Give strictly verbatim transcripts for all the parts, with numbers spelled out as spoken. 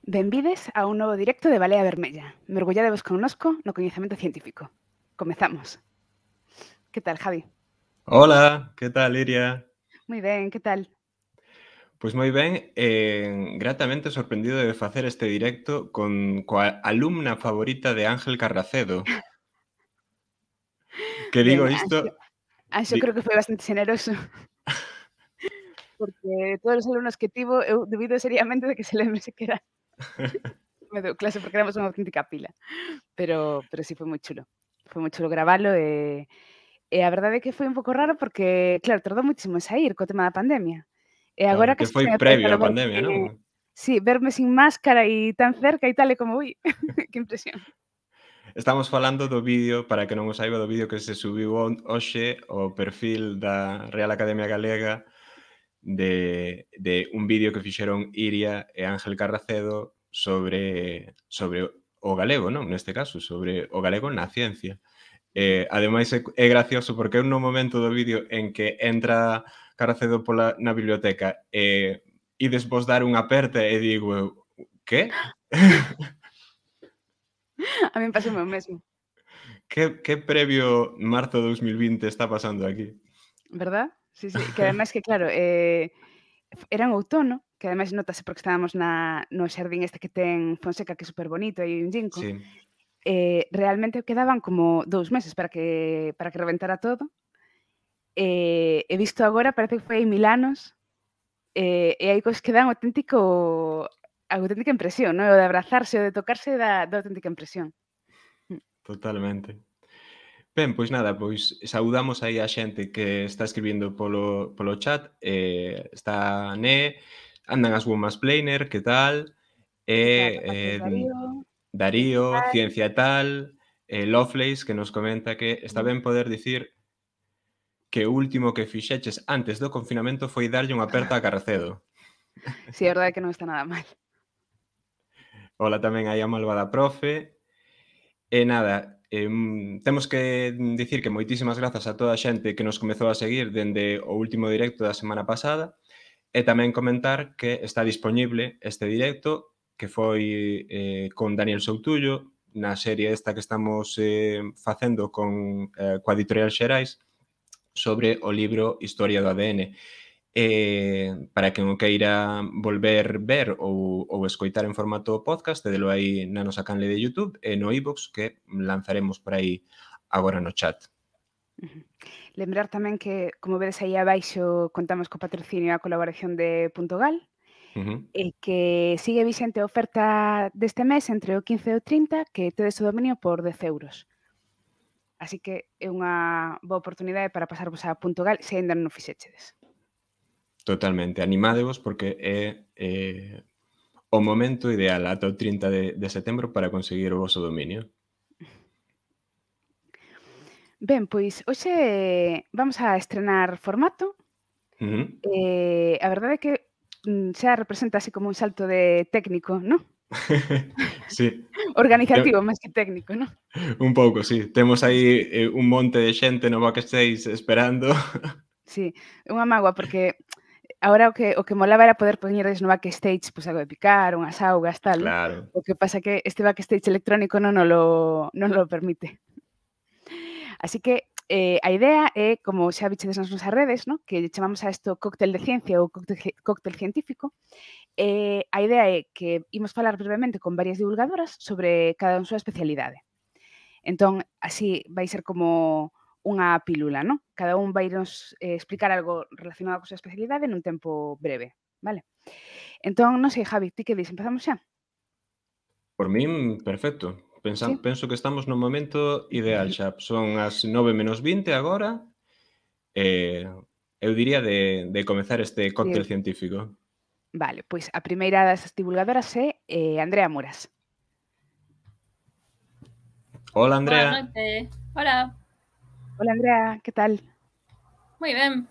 Benvides a un novo directo de Balea Vermella. Mergulladevos connosco no coñecemento científico. Comezamos. Que tal, Javi? Hola, que tal, Iria? Moi ben, que tal? Pois moi ben, eh, gratamente sorprendido de facer este directo con coa alumna favorita de Ángel Carracedo. Que Ben, digo Anxo, isto Anxo di creo que foi bastante xeneroso. Porque todos os alumnos que tivo, eu dubido seriamente de que se lembre sequera me deu clase, porque éramos unha auténtica pila. Pero pero si foi moi chulo. Foi moi chulo gravalo e e a verdade é que foi un pouco raro porque, claro, tardou moitísimo en saír co tema da pandemia. E Claro, agora que case que foi me pesa previo no á verme pandemia, non? sí, verme sin máscara e tan cerca e tal, e como, ui, que impresión. Estamos falando do vídeo, para que non o saiba, do vídeo que se subiu on hoxe ao perfil da Real Academia Galega de de un vídeo que fixeron Iria e Ángel Carracedo sobre sobre o galego, non? Neste caso, sobre o galego na ciencia. Ujú. Eh, ademais é é gracioso porque eu no momento do vídeo en que entra Carracedo pola na biblioteca e ides vos dar unha aperta e digo eu: "Que? A min pasoume o mesmo, que que previo marzo de dous mil vinte está pasando aquí?". verdad? Sí, sí, que ademais que claro, eh, era en outono, que ademais notase porque estábamos na no xardín este que ten Fonseca, que é superbonito, hai un ginkgo, Sí, eh, realmente quedaban como dous meses para que para que reventara todo, eh, e visto agora parece que foi hai mil anos, eh, e hai cousas que dan auténtico auténtica impresión, non? O de abrazarse, o de tocarse dá dá auténtica impresión. Mm. totalmente. Ben, pois nada, pois saudamos aí a xente que está escribindo polo polo chat, eh, está Né, andan as Womas Planer, que tal? Está E, por parte de eh, Darío, Ciencia e Darío, Tal. Ciencia e Tal, eh, Lovelace, que nos comenta que está Mm. ben poder dicir que o último que fixeches antes do confinamento foi darlle unha aperta a Carracedo. Sí, a verdade é que non está nada mal. Ola tamén aí a malvada profe. E nada, em, temos que dicir que moitísimas grazas a toda a xente que nos comezou a seguir dende o último directo da semana pasada e tamén comentar que está dispoñible este directo que foi eh, con Daniel Soutullo na serie esta que estamos eh, facendo con eh, coa Editorial Xerais sobre o libro Historia do A D N. Eh, para quen o queira volver ver ou, ou escoitar en formato podcast, tedelo aí na nosa canle de YouTube e no iVoox que lanzaremos por aí agora no chat. Ujú. Lembrar tamén que, como vedes aí abaixo, contamos co patrocinio e a colaboración de Puntogal, Uh-huh. e que sigue vixente a oferta deste mes entre o quince e o trinta, que tedes o dominio por dez euros. Así que é unha boa oportunidade para pasarvos a Puntogal se aínda non o fixechedes. Totalmente, animádevos porque é eh, o momento ideal ata o trinta de, de setembro para conseguir o voso dominio. Ben, pois hoxe vamos a estrenar formato. Uh-huh. Eh, a verdade é que mm, xa representa así como un salto de técnico, non? Sí, Organizativo máis que técnico, non? un pouco, sí. Temos aí eh, un monte de xente no backstage esperando. Sí, é unha mágoa porque agora o que o que molaba era poder poñerlles no backstage, pois, algo de picar, unhas augas, tal, non? Claro. O que pasa que este backstage electrónico non nolo non nolo permite. Así que, eh, a idea é, como xa vichedes nas nosas redes, non? Que lle chamamos a isto cóctel de ciencia ou cóctel ge cóctel científico, eh, a idea é que imos falar brevemente con varias divulgadoras sobre cada unha súa especialidade. Entón, así vai ser como unha pílula, non? Cada un vainos eh, explicar algo relacionado coa súa especialidade nun tempo breve, vale? Entón, non sei, Javi, ti que dis? Empezamos xa? Por min, perfecto. Pensam, Sí? penso que estamos no momento ideal xa. Son as nove menos vinte agora e eu diría de, de comezar este Sí. cóctel científico. Vale, pois a primeira das divulgadoras é eh, Andrea Muras. Hola, Boa Andrea. noite. Hola. Hola, Andrea, que tal? Moi ben.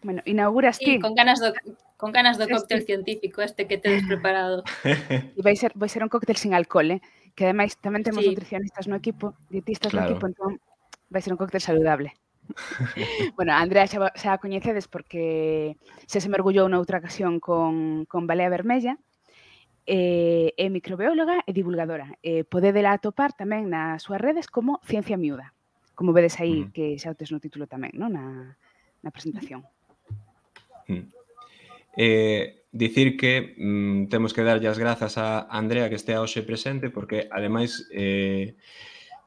Bueno, inauguras Sí, ti. con ganas do con ganas do Sí, cóctel sí. científico este que tedes preparado. E vai ser vai ser un cóctel sin alcohol, eh? Que ademais tamén temos Sí. nutricionistas no equipo, dietistas no equipo, Claro. entón vai ser un cóctel saludable. Bueno, a Andrea xa, xa a coñecedes porque xa se mergullou noutra ocasión con, con Balea Vermella eh, é microbióloga e divulgadora. Eh, podedela atopar tamén nas súas redes como Ciencia Miúda, como vedes aí Mm. que xa o tes no título tamén, non? Na, na presentación. Mm. Eh, dicir que mm, temos que darlle as grazas a Andrea que estea hoxe presente porque, ademais, eh,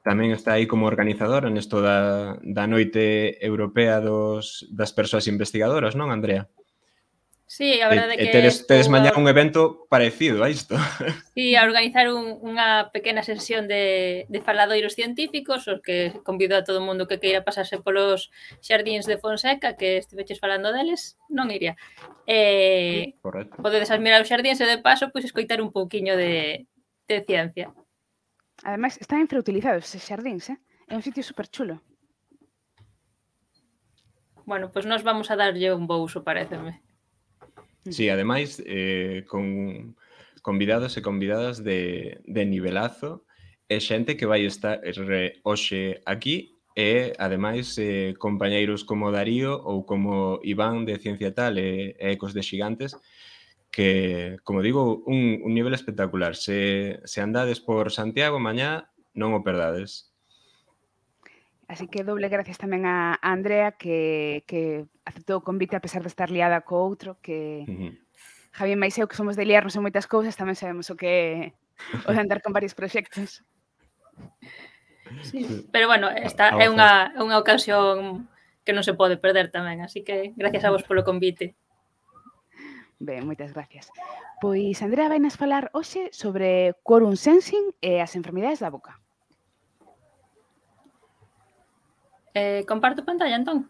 tamén está aí como organizadora nesto da, da Noite Europea dos, das Persoas Investigadoras, non, Andrea? Sí, a E, verdade é e que tedes, tedes estou mañá a, un evento parecido a isto. sí, a organizar un, unha pequena sesión de, de faladoiros científicos, os que convido a todo o mundo que queira pasarse polos xardíns de Fonseca, que estiveches falando deles, non iría. Eh, Correcto. podedes admirar os xardíns e de paso pois escoitar un pouquiño de, de ciencia. Ademais, están infrautilizados eses xardíns, eh? É un sitio super chulo. Bueno, pois nos vamos a darlle un bouso, pareceme. Sí, ademais, eh, con convidados e convidadas de, de nivelazo e xente que vai estar re, hoxe aquí e, ademais, eh, compañeiros como Darío ou como Iván de Ciencia Tal e, e Ecos de Xigantes que, como digo, un, un nivel espectacular. Se, se andades por Santiago mañá, non o perdades. Así que doble gracias tamén a a Andrea que, que aceptou o convite a pesar de estar liada co outro, que Uh -huh. Javi máis eu que somos de liarnos en moitas cousas, tamén sabemos o que é o de andar con varios proxectos. Sí, pero bueno, esta é unha, unha ocasión que non se pode perder tamén, así que gracias a vos polo convite. Ben, moitas gracias. Pois Andrea vai nos falar hoxe sobre quorum sensing e as enfermidades da boca. Eh, comparto pantalla, entón?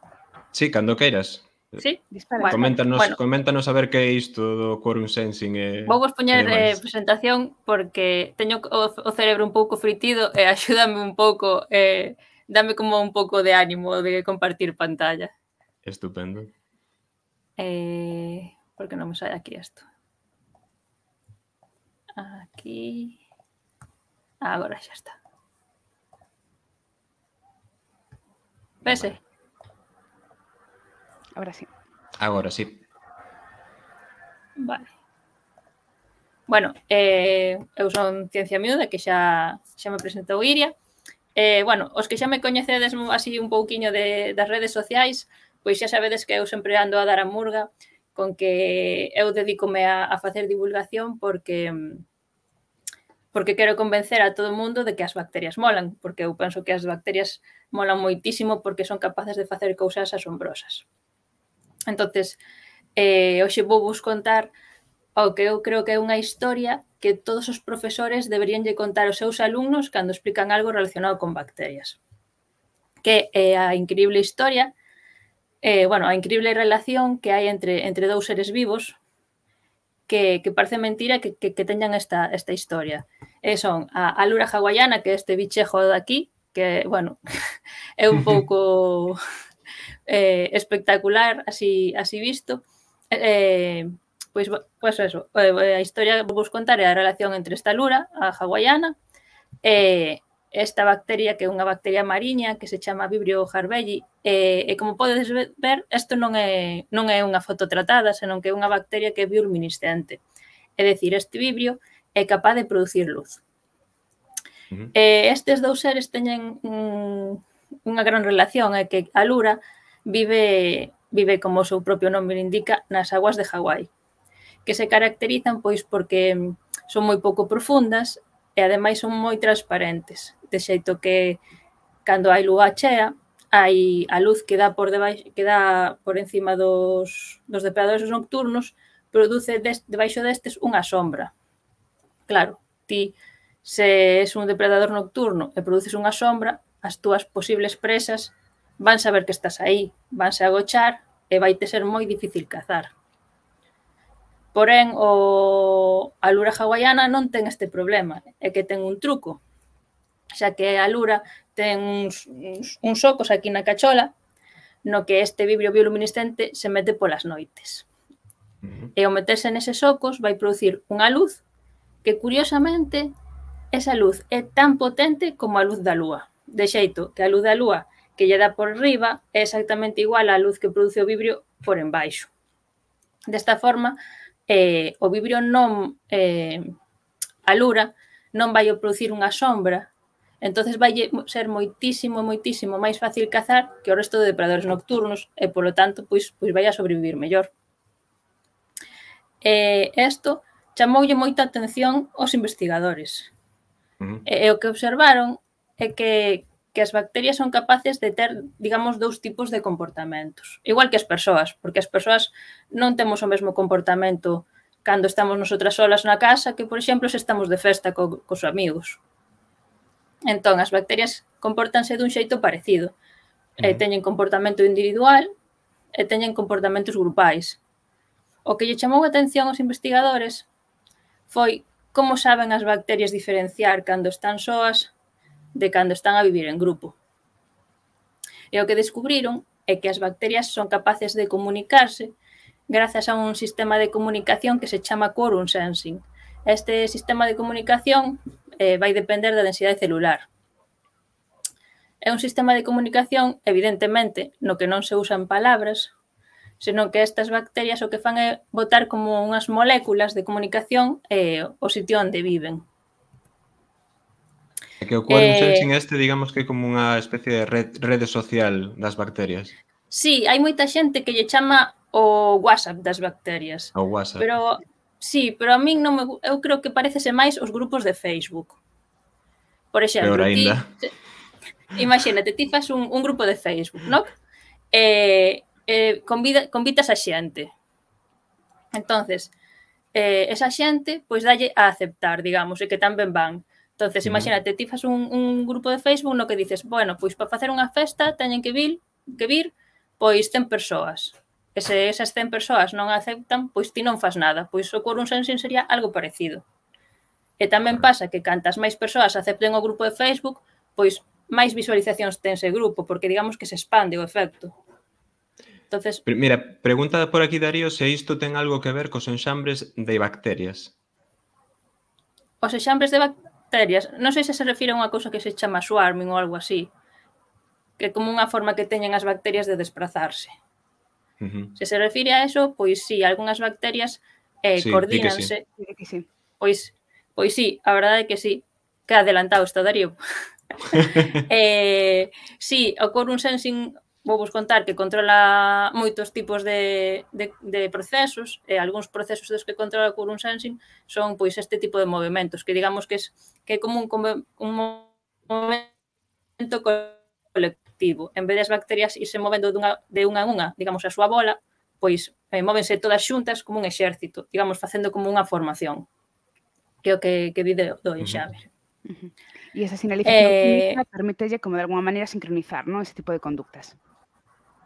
Sí, cando queiras. Sí? Dispara, Bueno, coméntanos, bueno. coméntanos a ver que é isto do quorum sensing e Vou vos poñer e eh, presentación porque teño o, o cerebro un pouco fritido e axúdame un pouco, eh, dame como un pouco de ánimo de compartir pantalla. Estupendo. Eh, por que non me sai aquí isto? Aquí... Ah, agora xa está. Vese? Agora sí. Agora sí. Vale. Bueno, eh, eu son Ciencia Miúda, que xa, xa me presentou Iria. Eh, bueno, os que xa me coñecedes así un pouquiño de, das redes sociais, pois xa sabedes que eu sempre ando a dar a murga con que eu dedícome a, a facer divulgación porque porque quero convencer a todo o mundo de que as bacterias molan, porque eu penso que as bacterias molan moitísimo porque son capaces de facer cousas asombrosas. Entonces, eh, hoxe vou vos contar o que eu creo que é unha historia que todos os profesores deberían lle contar aos seus alumnos cando explican algo relacionado con bacterias. Que é a increíble historia, eh, bueno, a increíble relación que hai entre, entre dous seres vivos que, que parece mentira que, que, que teñan esta, esta historia. E son a alura hawaiana, que é este bichejo de aquí, que, bueno, é un pouco eh, espectacular así, así visto. Eh, pois, pois eso, a historia que vos contar é a relación entre esta alura, a hawaiana, e esta bacteria, que é unha bacteria mariña que se chama Vibrio harbelli, e, e como podedes ver, isto non é, non é unha foto tratada, senón que é unha bacteria que é bioluminiscente. É dicir, este vibrio é capaz de producir luz. Uh -huh. E estes dous seres teñen un, unha gran relación, é que a lura vive, vive, como o seu propio nome indica, nas aguas de Hawái, que se caracterizan pois porque son moi pouco profundas e ademais son moi transparentes, de xeito que cando hai lúa chea, hai a luz que dá por debaixo, que dá por encima dos, dos depredadores nocturnos, produce des, debaixo destes unha sombra. Claro, ti se és un depredador nocturno e produces unha sombra, as túas posibles presas van saber que estás aí, vanse agochar e vai te ser moi difícil cazar. Porén, o a lura hawaiana non ten este problema, é que ten un truco, xa que a lura ten uns, uns, uns socos aquí na cachola, no que este vibrio bioluminiscente se mete polas noites. Uh-huh. E ao meterse neses socos vai producir unha luz que, curiosamente, esa luz é tan potente como a luz da lúa, de xeito que a luz da lúa que lle dá por riba é exactamente igual á luz que produce o vibrio por embaixo. Desta forma, Eh, o vibrio non, eh, a lura non vai producir unha sombra, entonces vai ser moitísimo, moitísimo máis fácil cazar que o resto de depredadores nocturnos e, polo tanto, pois, pois vai a sobrevivir mellor. E isto chamoulle moita atención aos investigadores. Uh-huh. E, e o que observaron é que, que as bacterias son capaces de ter, digamos, dous tipos de comportamentos. Igual que as persoas, porque as persoas non temos o mesmo comportamento cando estamos nosotras solas na casa que, por exemplo, se estamos de festa co, cos amigos. Entón, as bacterias compórtanse dun xeito parecido. Uh-huh. E teñen comportamento individual e teñen comportamentos grupais. O que lle chamou a atención aos investigadores foi como saben as bacterias diferenciar cando están soas de cando están a vivir en grupo. E o que descubriron é que as bacterias son capaces de comunicarse grazas a un sistema de comunicación que se chama quorum sensing. Este sistema de comunicación eh, vai depender da densidade celular. É un sistema de comunicación, evidentemente, no que non se usan palabras, senón que estas bacterias o que fan é botar como unhas moléculas de comunicación eh, o sitio onde viven. É que o quorum sensing este, digamos que é como unha especie de red, rede social das bacterias. Sí, hai moita xente que lle chama o WhatsApp das bacterias. O WhatsApp. Pero, sí, pero a min non me, eu creo que parecese máis os grupos de Facebook. Por exemplo, Peor ti, ainda. imagínate, ti fas un, un grupo de Facebook, non? E, eh, convida, convitas a xente. Entonces, eh, esa xente, pois dalle a aceptar, digamos, e que tamén van. Entonces, imagínate, ti fas un, un grupo de Facebook no que dices, bueno, pois para facer unha festa teñen que vir, que vir pois cen persoas. E se esas cen persoas non aceptan, pois ti non fas nada. Pois o quorum sensing sería algo parecido. E tamén pasa que cantas máis persoas acepten o grupo de Facebook, pois máis visualizacións ten ese grupo, porque digamos que se expande o efecto. Entonces, mira, pregunta por aquí Darío se isto ten algo que ver cos enxambres de bacterias. Os enxambres de bacterias, non sei se se refire a unha cousa que se chama swarming ou algo así, que é como unha forma que teñen as bacterias de desplazarse. Uh-huh. Se se refire a eso, pois sí, algunhas bacterias eh, sí, coordínanse. Sí. Sí, sí. Pois, pois sí, a verdade é que sí, que adelantado está Darío. eh, sí, o quorum sensing, vou vos contar que controla moitos tipos de, de, de procesos, e algúns procesos dos que controla o quorum sensing son pois este tipo de movimentos, que digamos que, es, que é como un, un movimento colectivo. En vez das bacterias irse movendo dunha, de unha en unha, digamos, a súa bola, pois eh, móvense todas xuntas como un exército, digamos, facendo como unha formación, que é o que, que di do enxame. Uh -huh. E esa sinalización eh, química permítelle como de alguma maneira sincronizar, ¿no?, ese tipo de conductas.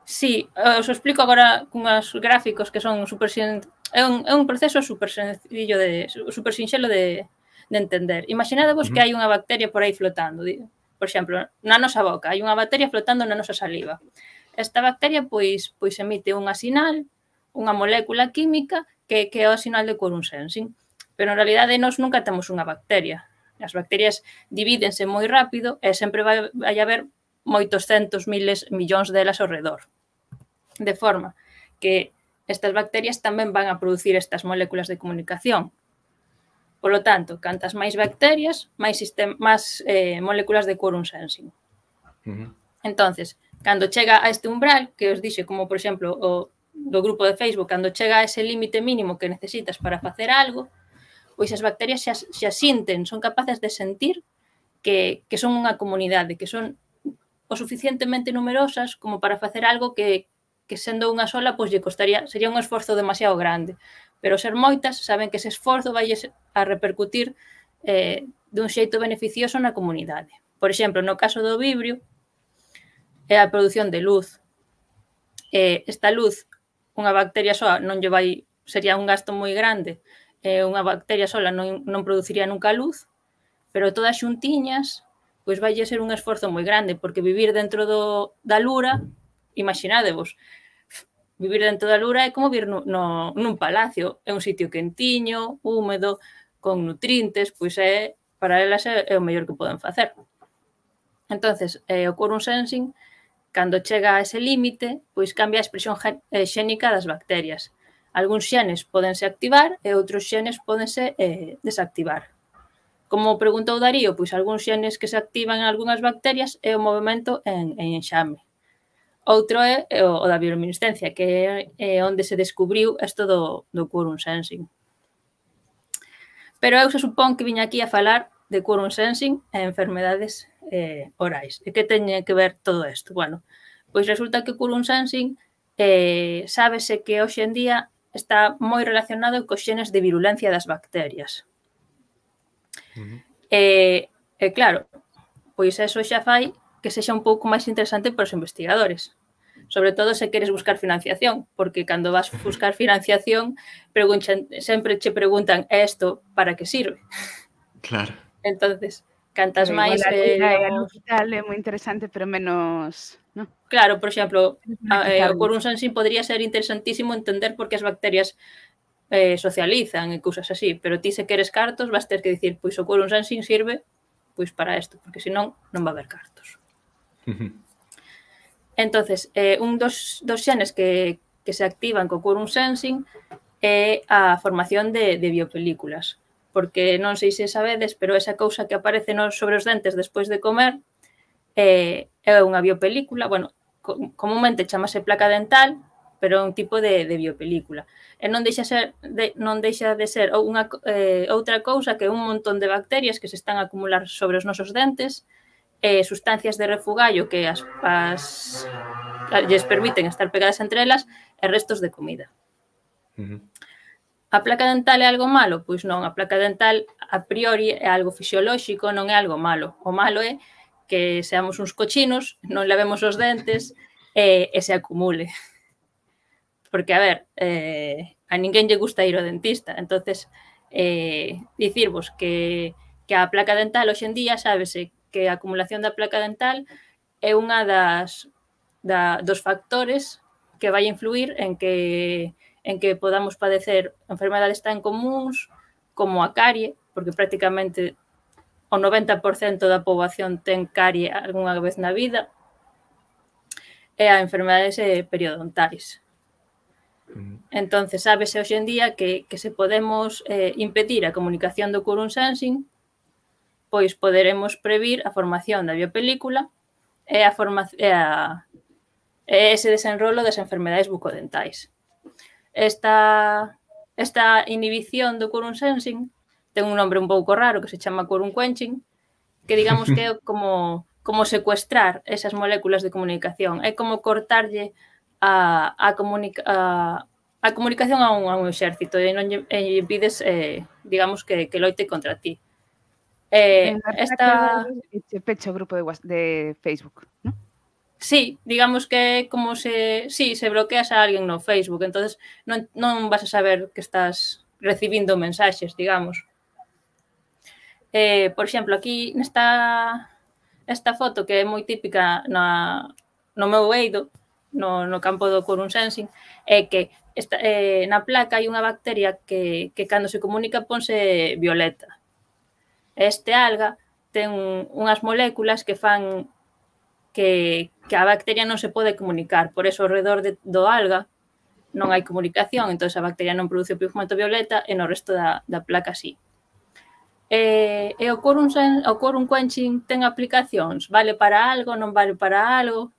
Sí, os explico agora cunhas gráficos que son super sen... é, un, é un proceso super sencillo de super sinxelo de, de entender. Imaginadevos uh -huh. que hai unha bacteria por aí flotando, por exemplo, na nosa boca, hai unha bacteria flotando na nosa saliva. Esta bacteria pois pois emite unha sinal, unha molécula química que, que é o sinal de quorum sensing, pero en realidade nós nunca temos unha bacteria. As bacterias divídense moi rápido e sempre vai, vai haber moitos centos, miles, millóns delas ao redor. De forma que estas bacterias tamén van a producir estas moléculas de comunicación. Por lo tanto, cantas máis bacterias, máis, sistema, máis eh, moléculas de quorum sensing. Uh-huh. Entonces, cando chega a este umbral, que os dixe, como por exemplo o do grupo de Facebook, cando chega a ese límite mínimo que necesitas para facer algo, pois as bacterias xa, xa sinten, son capaces de sentir que, que son unha comunidade, que son o suficientemente numerosas como para facer algo que, que sendo unha sola, pois lle costaría, sería un esforzo demasiado grande. Pero ser moitas, saben que ese esforzo vai a repercutir eh, dun xeito beneficioso na comunidade. Por exemplo, no caso do vibrio, é a produción de luz. Eh, esta luz, unha bacteria soa non lle vai, sería un gasto moi grande, eh, unha bacteria sola non, non produciría nunca luz, pero todas xuntiñas, pois vai ser un esforzo moi grande, porque vivir dentro do, da lura, imaginádevos, vivir dentro da lura é como vivir no, no, nun palacio, é un sitio quentiño, húmedo, con nutrientes, pois é, para elas é, é o mellor que poden facer. Entonces, eh, o quorum sensing, cando chega a ese límite, pois cambia a expresión xénica das bacterias. Algúns xenes pódense activar e outros xenes pódense eh, desactivar. Como preguntou Darío, pois algúns xenes que se activan en algunhas bacterias é o movimento en, en enxame. Outro é o, o da bioluminiscencia, que é onde se descubriu isto do, do quorum sensing. Pero eu se supón que viña aquí a falar de quorum sensing e enfermedades eh, orais. E que teñe que ver todo isto? Bueno, pois resulta que o quorum sensing eh, sábese que hoxe en día está moi relacionado cos xenes de virulencia das bacterias. Uh-huh. E, e claro, pois eso xa fai que sexa un pouco máis interesante para os investigadores. Sobre todo se queres buscar financiación, porque cando vas buscar financiación preguntan, sempre che preguntan isto para que sirve. Claro. Entonces, cantas pero máis... Eh, digamos... digital é moi interesante, pero menos... ¿no? Claro, por exemplo, eh, o quorum sensing podría ser interesantísimo entender por que as bacterias eh, socializan e cousas así, pero ti se queres cartos vas ter que dicir, pois o quorum sensing sirve pois para isto, porque senón non va a haber cartos. Entonces, eh, un dos, dos xenes que, que se activan co quorum sensing é a formación de, de biopelículas, porque non sei se sabedes, pero esa cousa que aparece nos, sobre os dentes despois de comer eh, é unha biopelícula, bueno, comúnmente chamase placa dental, pero é un tipo de, de biopelícula. E non deixa, ser, de, non deixa de ser unha, eh, outra cousa que un montón de bacterias que se están a acumular sobre os nosos dentes, eh, sustancias de refugallo que as, as lles permiten estar pegadas entre elas e restos de comida. Uh-huh. A placa dental é algo malo? Pois non, a placa dental a priori é algo fisiolóxico, non é algo malo. O malo é que seamos uns cochinos, non lavemos os dentes e, e se acumule. Porque, a ver, eh, a ninguén lle gusta ir ao dentista. Entonces, eh, dicirvos que, que a placa dental hoxe en día sábese que a acumulación da placa dental é unha das, da, dos factores que vai influir en que, en que podamos padecer enfermedades tan comuns como a carie, porque prácticamente o noventa por cento da poboación ten carie algunha vez na vida, e a enfermedades periodontais. Entonces, sábese hoxe en día que, que se podemos eh, impedir a comunicación do quorum sensing, pois poderemos previr a formación da biopelícula e, a forma, e, a, e ese desenrolo das enfermedades bucodentais. Esta, esta inhibición do quorum sensing ten un nombre un pouco raro que se chama quorum quenching, que digamos que é como, como secuestrar esas moléculas de comunicación, é como cortarlle a, a, comunica, a, a comunicación a un, a un exército e non lle, e pides, eh, digamos, que, que loite contra ti. Eh, esta... Se pecha o grupo de, de Facebook, ¿no? Sí, digamos que como se... Sí, se bloqueas a alguén no Facebook, entonces non, non vas a saber que estás recibindo mensaxes, digamos. Eh, por exemplo, aquí nesta esta foto que é moi típica na, no meu eido, no, no campo do quorum sensing, é que esta, eh, na placa hai unha bacteria que, que cando se comunica ponse violeta. Este alga ten unhas moléculas que fan que, que a bacteria non se pode comunicar, por eso ao redor de, do alga non hai comunicación, entón a bacteria non produce o pigmento violeta e no resto da, da placa sí. E, e o quorum, o quorum quenching ten aplicacións? Vale para algo, non vale para algo?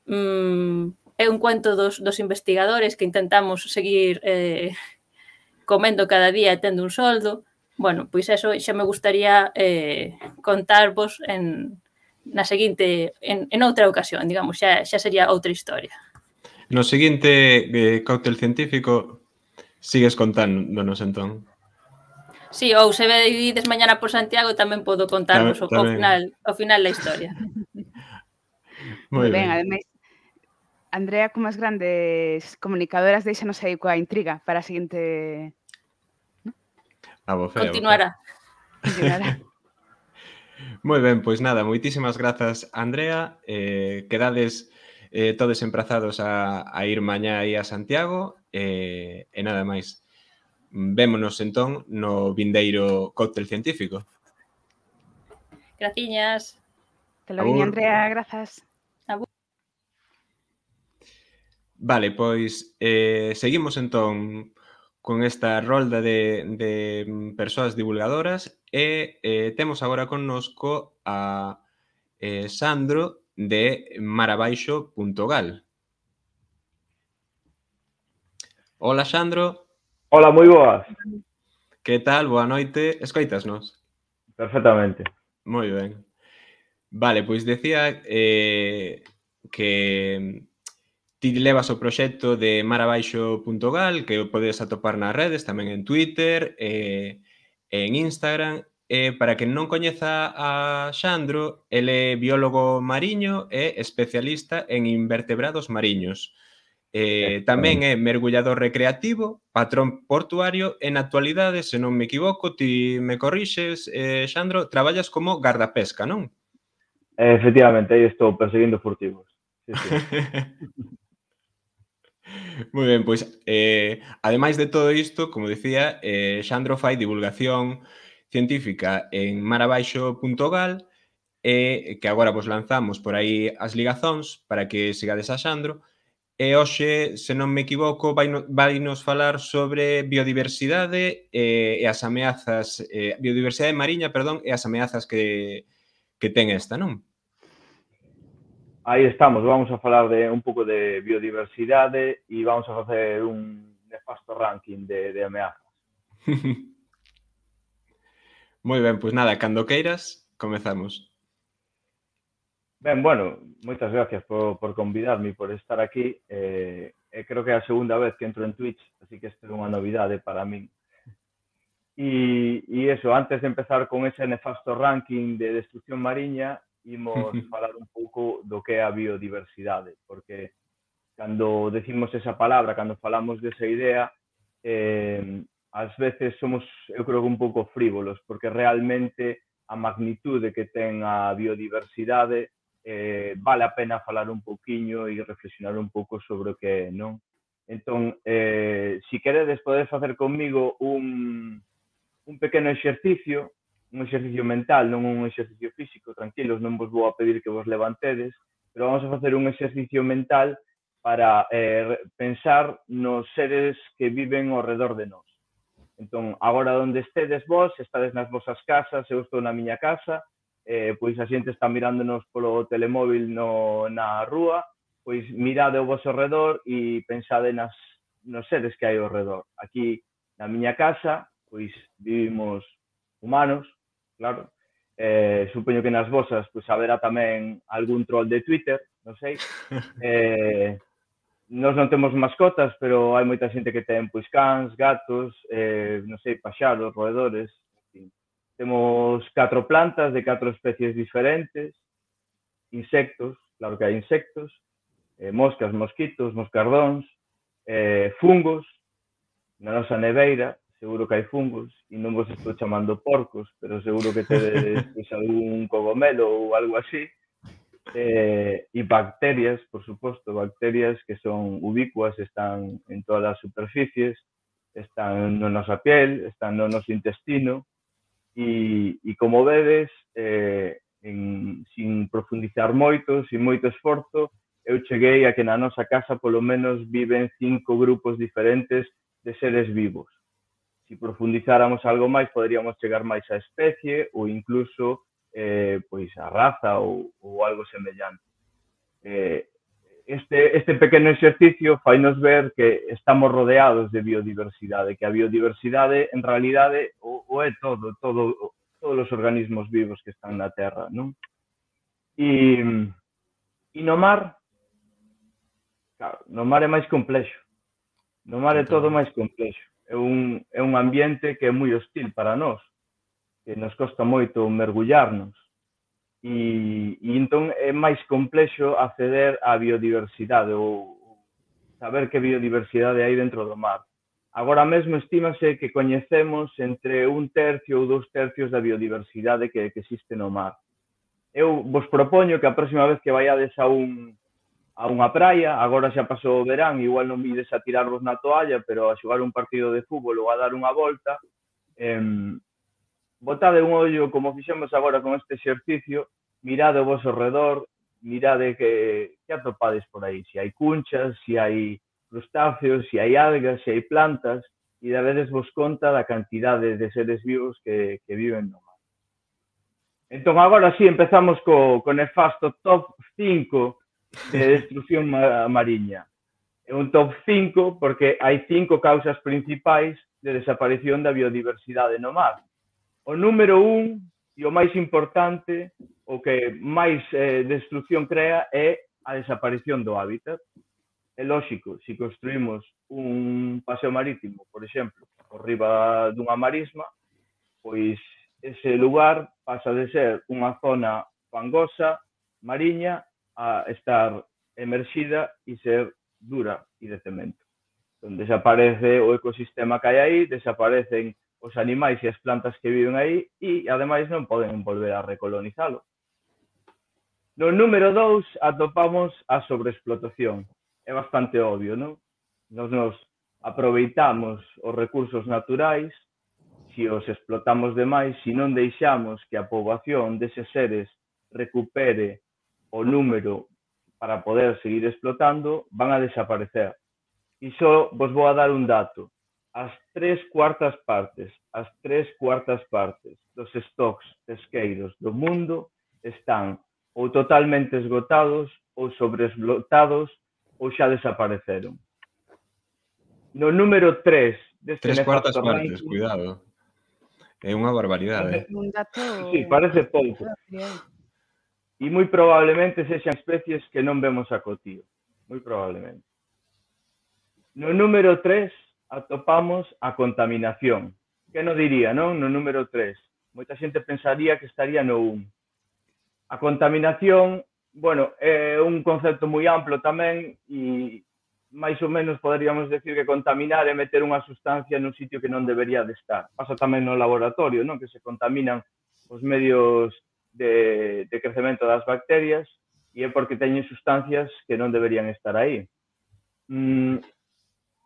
Mm, é un cuento dos, dos investigadores que intentamos seguir eh, comendo cada día e tendo un soldo. Bueno, pois eso xa me gustaría eh, contarvos en, na seguinte, en, en outra ocasión, digamos, xa, xa sería outra historia. No seguinte eh, cóctel científico sigues contándonos entón. Sí, ou se vedes mañana por Santiago tamén podo contarvos o, o final o final da historia. Moi ben, ademais, Andrea, como as grandes comunicadoras, deixanos aí coa intriga para a seguinte... Abofé, Continuará. Continuará. Moi ben, pois nada, moitísimas grazas, Andrea. Eh, quedades eh, todos emprazados a, a ir mañá aí a Santiago eh, e nada máis. Vémonos entón no vindeiro cóctel científico. Graciñas. Te lo viña, Andrea, grazas. Abur. Vale, pois eh, seguimos entón con esta rolda de, de persoas divulgadoras e eh, temos agora connosco a eh, Sandro de marabaixo punto gal. Hola, Sandro. Hola, moi boas. Que tal? Boa noite. Escoitasnos? Perfectamente. Moi ben. Vale, pois decía eh, que ti levas o proxecto de marabaixo punto gal, que o podes atopar nas redes, tamén en Twitter, e eh, en Instagram. Eh, para quen non coñeza a Xandro, ele é biólogo mariño e especialista en invertebrados mariños. Eh, tamén é mergullador recreativo, patrón portuario e na actualidade, se non me equivoco, ti me corrixes, eh, Xandro, traballas como gardapesca, non? Efectivamente, aí estou perseguindo furtivos. Sí, sí. Moi ben, pois, eh, ademais de todo isto, como dicía, eh, Xandro fai divulgación científica en marabaixo punto gal e que agora vos lanzamos por aí as ligazóns para que sigades a Xandro. E hoxe, se non me equivoco, vai, no, vai nos falar sobre biodiversidade e, e as ameazas, eh, biodiversidade mariña, perdón, e as ameazas que, que ten esta, non? Aí estamos, vamos a falar de un pouco de biodiversidade e vamos a facer un nefasto ranking de, de ameazas. Moi ben, pois nada, cando queiras, comezamos. Ben, bueno, moitas gracias por, por convidarme e por estar aquí. Eh, eh, creo que é a segunda vez que entro en Twitch, así que isto é unha novidade para min. E, e eso, antes de empezar con ese nefasto ranking de destrucción mariña, imos falar un pouco do que é a biodiversidade, porque cando decimos esa palabra, cando falamos desa idea, eh, ás veces somos, eu creo que un pouco frívolos, porque realmente a magnitude que ten a biodiversidade eh, vale a pena falar un pouquiño e reflexionar un pouco sobre o que é, non? Entón, eh, si queredes, podedes facer comigo un, un pequeno exercicio, un exercicio mental, non un exercicio físico, tranquilos, non vos vou a pedir que vos levantedes, pero vamos a facer un exercicio mental para eh, pensar nos seres que viven ao redor de nós. Entón, agora onde estedes vos, estades nas vosas casas, eu estou na miña casa, eh, pois a xente está mirándonos polo telemóvil no, na rúa, pois mirade ao vosso redor e pensade nas, nos seres que hai ao redor. Aquí, na miña casa, pois vivimos humanos, claro, eh, supoño que nas vosas pois haberá tamén algún troll de Twitter, non sei. Eh, nós non temos mascotas, pero hai moita xente que ten pois cans, gatos, eh, non sei, paxaros, roedores, en fin. Temos catro plantas de catro especies diferentes, insectos, claro que hai insectos, eh, moscas, mosquitos, moscardóns, eh, fungos, na nosa neveira, seguro que hai fungos, e non vos estou chamando porcos, pero seguro que tedes pues, algún cogomelo ou algo así. Eh, e bacterias, por suposto, bacterias que son ubicuas, están en todas as superficies, están na nosa piel, están no noso intestino, e, e como vedes, eh, en, sin profundizar moito, sin moito esforzo, eu cheguei a que na nosa casa polo menos viven cinco grupos diferentes de seres vivos. Se profundizáramos algo máis, poderíamos chegar máis á especie ou incluso eh, pois a raza ou, ou algo semellante. Eh, este, este pequeno exercicio fainos ver que estamos rodeados de biodiversidade, que a biodiversidade en realidade o, o é todo, todo, todos os organismos vivos que están na Terra, non? E, e no mar, claro, no mar é máis complexo. No mar é todo máis complexo. É un, é un ambiente que é moi hostil para nós, que nos costa moito mergullarnos. E, e entón é máis complexo acceder á biodiversidade ou saber que biodiversidade hai dentro do mar. Agora mesmo estímase que coñecemos entre un tercio ou dous tercios da biodiversidade que, que existe no mar. Eu vos propoño que a próxima vez que vaiades a un a unha praia, agora xa pasou o verán, igual non vides a tirarvos na toalla, pero a xogar un partido de fútbol ou a dar unha volta, eh, botade un ollo, como fixemos agora con este exercicio, mirade o vosso redor, mirade que, que atopades por aí, se hai cunchas, se hai crustáceos, se hai algas, se hai plantas, e dabedes vos conta da cantidade de seres vivos que, que viven no mar. Entón, agora sí, empezamos co, co nefasto top cinco de destrucción mariña. É un top cinco porque hai cinco causas principais de desaparición da biodiversidade no mar. O número un, e o máis importante, o que máis eh, destrucción crea é a desaparición do hábitat. É lógico, se construímos un paseo marítimo, por exemplo, por riba dunha marisma, pois ese lugar pasa de ser unha zona fangosa, mariña, a estar emerxida e ser dura e de cemento. Entón, desaparece o ecosistema que hai aí, desaparecen os animais e as plantas que viven aí e, ademais, non poden volver a recolonizalo. No número dous atopamos a sobreexplotación. É bastante obvio, non? Nos nos aproveitamos os recursos naturais, se os explotamos demais, se non deixamos que a poboación deses seres recupere o número para poder seguir explotando, van a desaparecer. E só vos vou a dar un dato. As tres cuartas partes, as tres cuartas partes dos stocks pesqueiros do mundo están ou totalmente esgotados ou sobreexplotados ou xa desapareceron. No número tres deste Tres cuartas nefasto partes, ranking, cuidado. É unha barbaridade. Un dato... sí, parece pouco. E moi probablemente sexan especies que non vemos a cotío. Moi probablemente. No número tres atopamos a contaminación. Que non diría, non? No número tres. Moita xente pensaría que estaría no un. A contaminación, bueno, é un concepto moi amplo tamén e máis ou menos poderíamos decir que contaminar é meter unha sustancia nun sitio que non debería de estar. Pasa tamén no laboratorio, non? Que se contaminan os medios de, de crecemento das bacterias e é porque teñen sustancias que non deberían estar aí. Mm,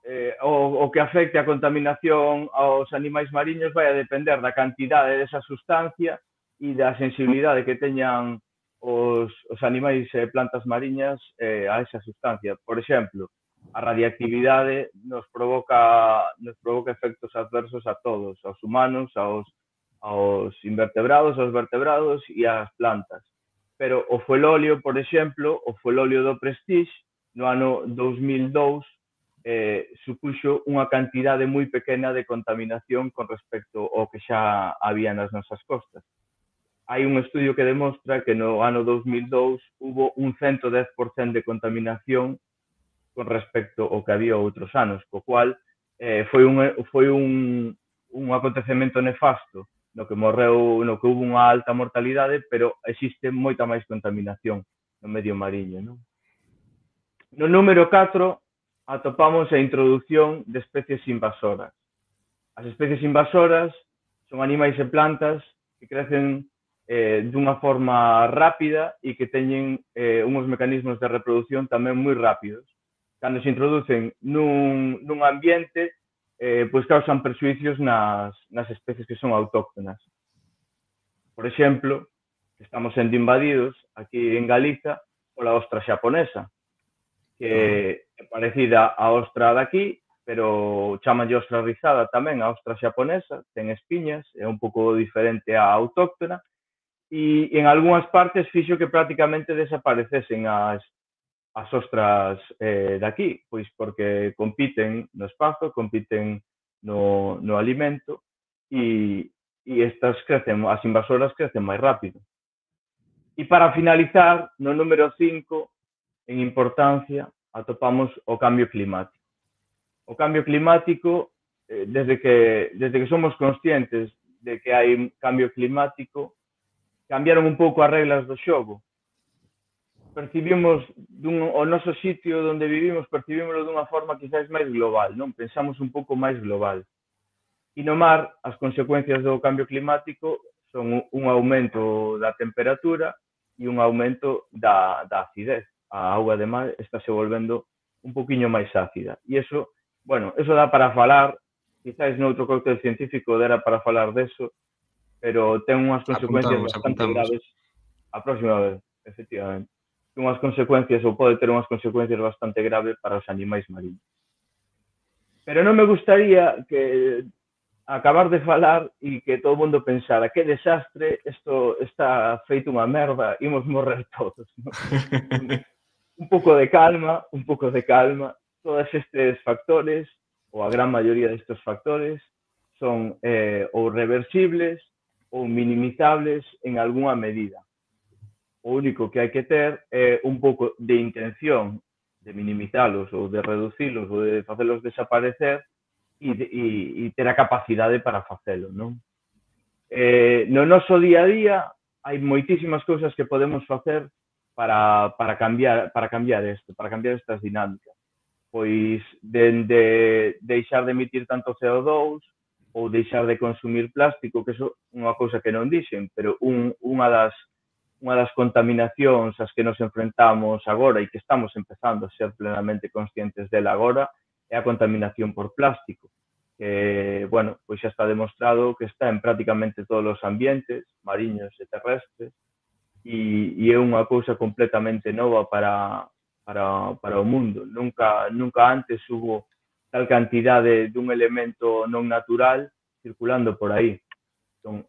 eh, o, o que afecte a contaminación aos animais mariños vai a depender da cantidade desa sustancia e da sensibilidade que teñan os, os animais e plantas mariñas eh, a esa sustancia. Por exemplo, a radiactividade nos provoca, nos provoca efectos adversos a todos, aos humanos, aos, aos invertebrados, aos vertebrados e ás plantas. Pero o fuelóleo, por exemplo, o fuelóleo do Prestige, no ano dous mil dous, eh, supuxo unha cantidade moi pequena de contaminación con respecto ao que xa había nas nosas costas. Hai un estudio que demostra que no ano dous mil dous hubo un ciento dez por cento de contaminación con respecto ao que había outros anos, co cual eh, foi, un, foi un, un acontecemento nefasto no que morreu, no que hubo unha alta mortalidade, pero existe moita máis contaminación no medio mariño, non? No número catro atopamos a introducción de especies invasoras. As especies invasoras son animais e plantas que crecen eh, dunha forma rápida e que teñen eh, uns mecanismos de reproducción tamén moi rápidos. Cando se introducen nun, nun ambiente, eh, pois causan perxuicios nas, nas especies que son autóctonas. Por exemplo, estamos sendo invadidos aquí en Galiza pola ostra xaponesa, que é parecida á ostra daqui, pero chamanlle ostra rizada tamén a ostra xaponesa, ten espiñas, é un pouco diferente á autóctona, e en algunhas partes fixo que prácticamente desaparecesen as as ostras eh, daqui, pois porque compiten no espazo, compiten no, no alimento e, e estas crecen, as invasoras crecen máis rápido. E para finalizar, no número cinco, en importancia, atopamos o cambio climático. O cambio climático, eh, desde, que, desde que somos conscientes de que hai cambio climático, cambiaron un pouco as reglas do xogo. Percibimos dun, o noso sitio onde vivimos, percibímoslo dunha forma quizás máis global, non? Pensamos un pouco máis global. E no mar, as consecuencias do cambio climático son un aumento da temperatura e un aumento da, da acidez. A auga de mar está se volvendo un poquinho máis ácida. E eso, bueno, eso dá para falar, quizás noutro cóctel científico dera para falar deso, pero ten unhas consecuencias apuntamos, bastante apuntamos. graves a próxima vez, efectivamente. Unhas consecuencias ou pode ter unhas consecuencias bastante graves para os animais mariños. Pero non me gustaría que acabar de falar e que todo o mundo pensara que desastre, isto está feito unha merda, imos morrer todos. ¿No? Un pouco de calma, un pouco de calma. Todos estes factores, ou a gran maioría destes factores, son eh, ou reversibles ou minimizables en algunha medida. O único que hai que ter é un pouco de intención de minimizalos ou de reducilos ou de facelos desaparecer e, de, e, e ter a capacidade para facelo, non? Eh, no noso día a día hai moitísimas cousas que podemos facer para, para cambiar para cambiar isto, para cambiar estas dinámicas. Pois, dende deixar de emitir tanto C O dous ou deixar de consumir plástico, que iso é unha cousa que non dixen, pero un, unha das unha das contaminacións ás que nos enfrentamos agora e que estamos empezando a ser plenamente conscientes dela agora é a contaminación por plástico, que, bueno, pois xa está demostrado que está en prácticamente todos os ambientes, mariños e terrestres, e, e é unha cousa completamente nova para, para, para o mundo. Nunca, nunca antes hubo tal cantidade dun elemento non natural circulando por aí. Entón,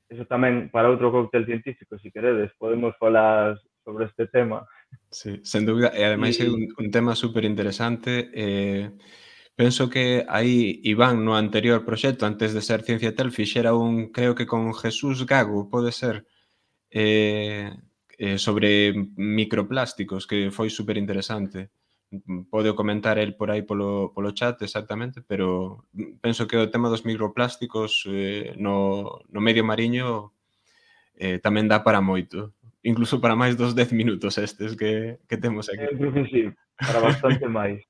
eso tamén para outro cóctel científico, se si queredes, podemos falar sobre este tema. Sí, sen dúbida, e ademais é un, un tema super interesante. Eh, penso que aí Iván no anterior proxecto, antes de ser Ciencia Tel, fixera un, creo que con Jesús Gago, pode ser, eh, eh, sobre microplásticos, que foi super interesante. Pode comentar el por aí polo, polo chat exactamente, pero penso que o tema dos microplásticos eh, no, no medio mariño eh, tamén dá para moito. Incluso para máis dos dez minutos estes que, que temos aquí. Eu creo que sí, para bastante máis.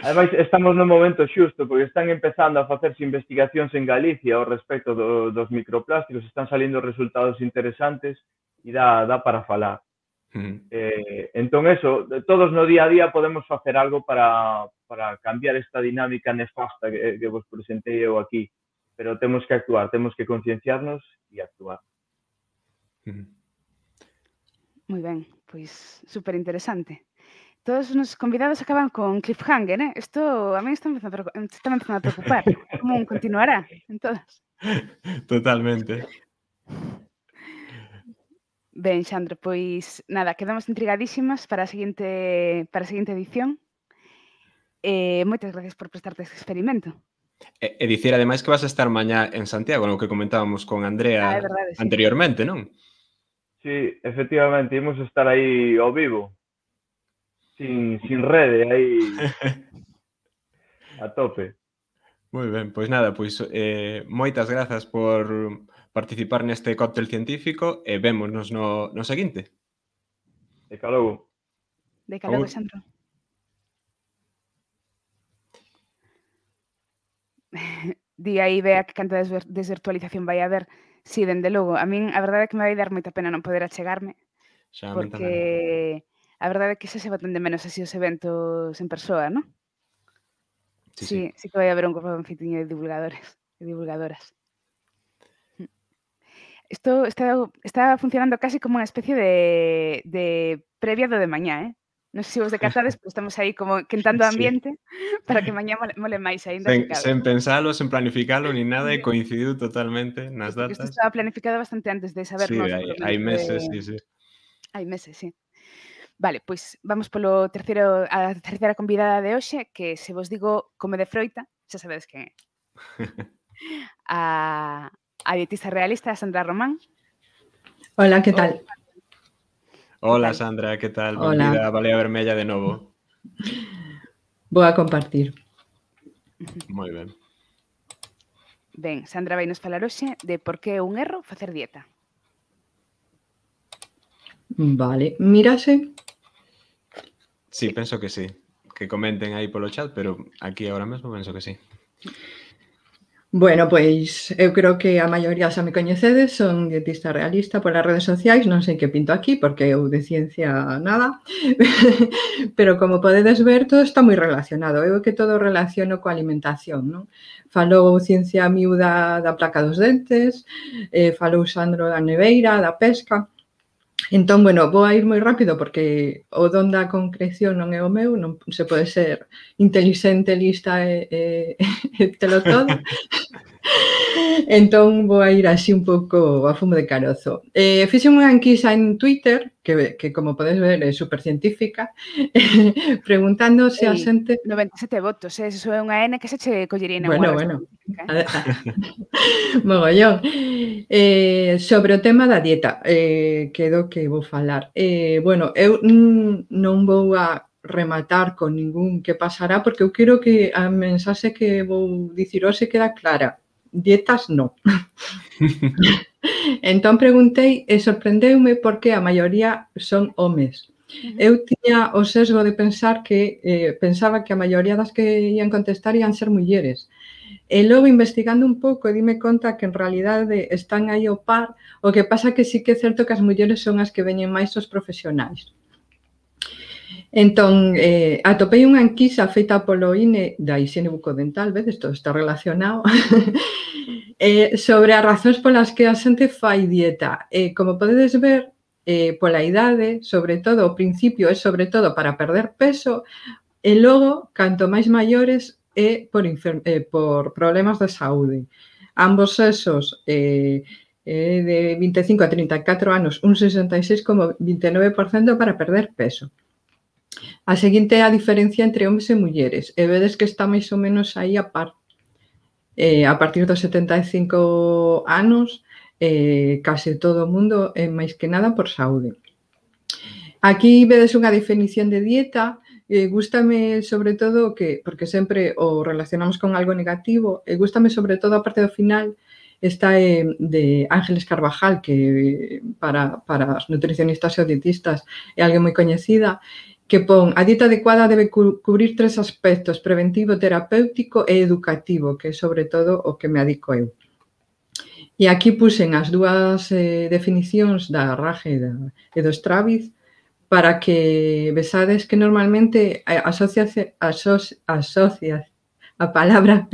Ademais, estamos no momento xusto, porque están empezando a facerse investigacións en Galicia ao respecto do, dos microplásticos, están salindo resultados interesantes e dá, dá para falar. Uh-huh. Eh, entón, eso, todos no día a día podemos facer algo para, para cambiar esta dinámica nefasta que, que vos presentei eu aquí, pero temos que actuar, temos que concienciarnos e actuar. Uh-huh. Moi ben, pois super interesante. Todos os nosos convidados acaban con cliffhanger, eh? Isto a mí está empezando a, está empezando a preocupar. Como un continuará en todas? Totalmente. Ben, Xandro, pois nada, quedamos intrigadísimas para a seguinte para a seguinte edición. Eh, moitas gracias por prestarte este experimento. E, e dicir, ademais, que vas a estar mañá en Santiago, no que comentábamos con Andrea ah, verdade, sí. anteriormente, non? Sí, efectivamente, imos estar aí ao vivo, sin, sin rede, aí a tope. Moi ben, pois nada, pois eh, moitas grazas por participar neste cóctel científico e vémonos no, no seguinte. De calogo. De calogo, Xandro. Di aí, vea que canta de desvirtualización vai haber. Si, sí, dende logo. A min, a verdade é que me vai dar moita pena non poder achegarme, xa, porque a verdade é que xa se botan de menos así os eventos en persoa, non? Sí, sí, sí, sí que vai haber un confitinho de divulgadores e divulgadoras. Isto está, está funcionando casi como unha especie de, de previa do de mañá, eh? Non sei se vos decatades, pero estamos aí como quentando o ambiente sí. para que mañá mole, mole máis ainda. Sen, sen pensalo, sen planificalo, ni nada, e coincidiu totalmente nas datas. Isto estaba planificado bastante antes de sabernos. Sí, hai, hai meses, sí, sí. Hai meses, sí. Vale, pois vamos polo terceiro, a terceira convidada de hoxe, que se vos digo come de froita, xa sabedes quen é. a, a dietista realista Sandra Román. Hola, que tal? Hola, Sandra, que tal? Hola. Benvida a Balea Vermella de novo. Vou a compartir. Moi ben. Ben, Sandra vai nos falar hoxe de por que é un erro facer dieta. Vale, mírase. Sí, penso que sí. Que comenten aí polo chat, pero aquí agora mesmo penso que sí. Bueno, pois eu creo que a maioría xa me coñecedes, son dietista realista polas redes sociais, non sei que pinto aquí, porque eu de ciencia nada, pero como podedes ver, todo está moi relacionado. Eu que todo relaciono coa alimentación, non? Falou Ciencia Miúda da placa dos dentes, eh, falou Sandro da neveira, da pesca, Entón, bueno, vou a ir moi rápido porque o don da concreción non é o meu, non se pode ser intelixente, lista e, e, e telo todo. Entón, vou a ir así un pouco a fumo de carozo. Eh, fixen unha enquisa en Twitter, que, que como podes ver é supercientífica, preguntando se a Ei, xente... noventa e sete votos, eh? Eso é unha N que se che collería na Bueno, unha bueno, científica, a- eh? a- mogollón. Eh, sobre o tema da dieta, eh, que do que vou falar. Eh, bueno, eu mm, non vou a rematar con ningún que pasará, porque eu quero que a mensaxe que vou dicir hoxe queda clara. Dietas non. Entón preguntei e sorprendeume porque a maioría son homes. Ujú. Eu tiña o sesgo de pensar que eh, pensaba que a maioría das que ian contestar ian ser mulleres. E logo investigando un pouco dime conta que en realidade están aí ao par, o que pasa que sí que é certo que as mulleres son as que veñen máis os profesionais. Entón, eh, atopei unha enquisa feita polo I N E da higiene bucodental, vedes, todo está relacionado, eh, sobre as razóns polas que a xente fai dieta. Eh, como podedes ver, eh, pola idade, sobre todo, o principio é sobre todo para perder peso, e logo, canto máis maiores, é por, eh, por problemas de saúde. Ambos esos, eh, eh, de vinte e cinco a trinta e catro anos, un sesenta e seis coma vinte e nove por cento para perder peso. A seguinte é a diferencia entre homes e mulleres, e vedes que está máis ou menos aí a par. Eh, a partir dos setenta e cinco anos, eh, case todo o mundo é máis que nada por saúde. Aquí vedes unha definición de dieta, eh, gústame sobre todo que, porque sempre o relacionamos con algo negativo, e gústame sobre todo a parte do final, esta é de Ángeles Carvajal, que para, para as nutricionistas e dietistas é alguén moi coñecida, que pon a dieta adecuada debe cu cubrir tres aspectos, preventivo, terapéutico e educativo, que é sobre todo o que me adico eu. E aquí puxen as dúas eh, definicións da Rage e, da, e do Straviz para que vesades que normalmente asocia, asocia, asocia a palabra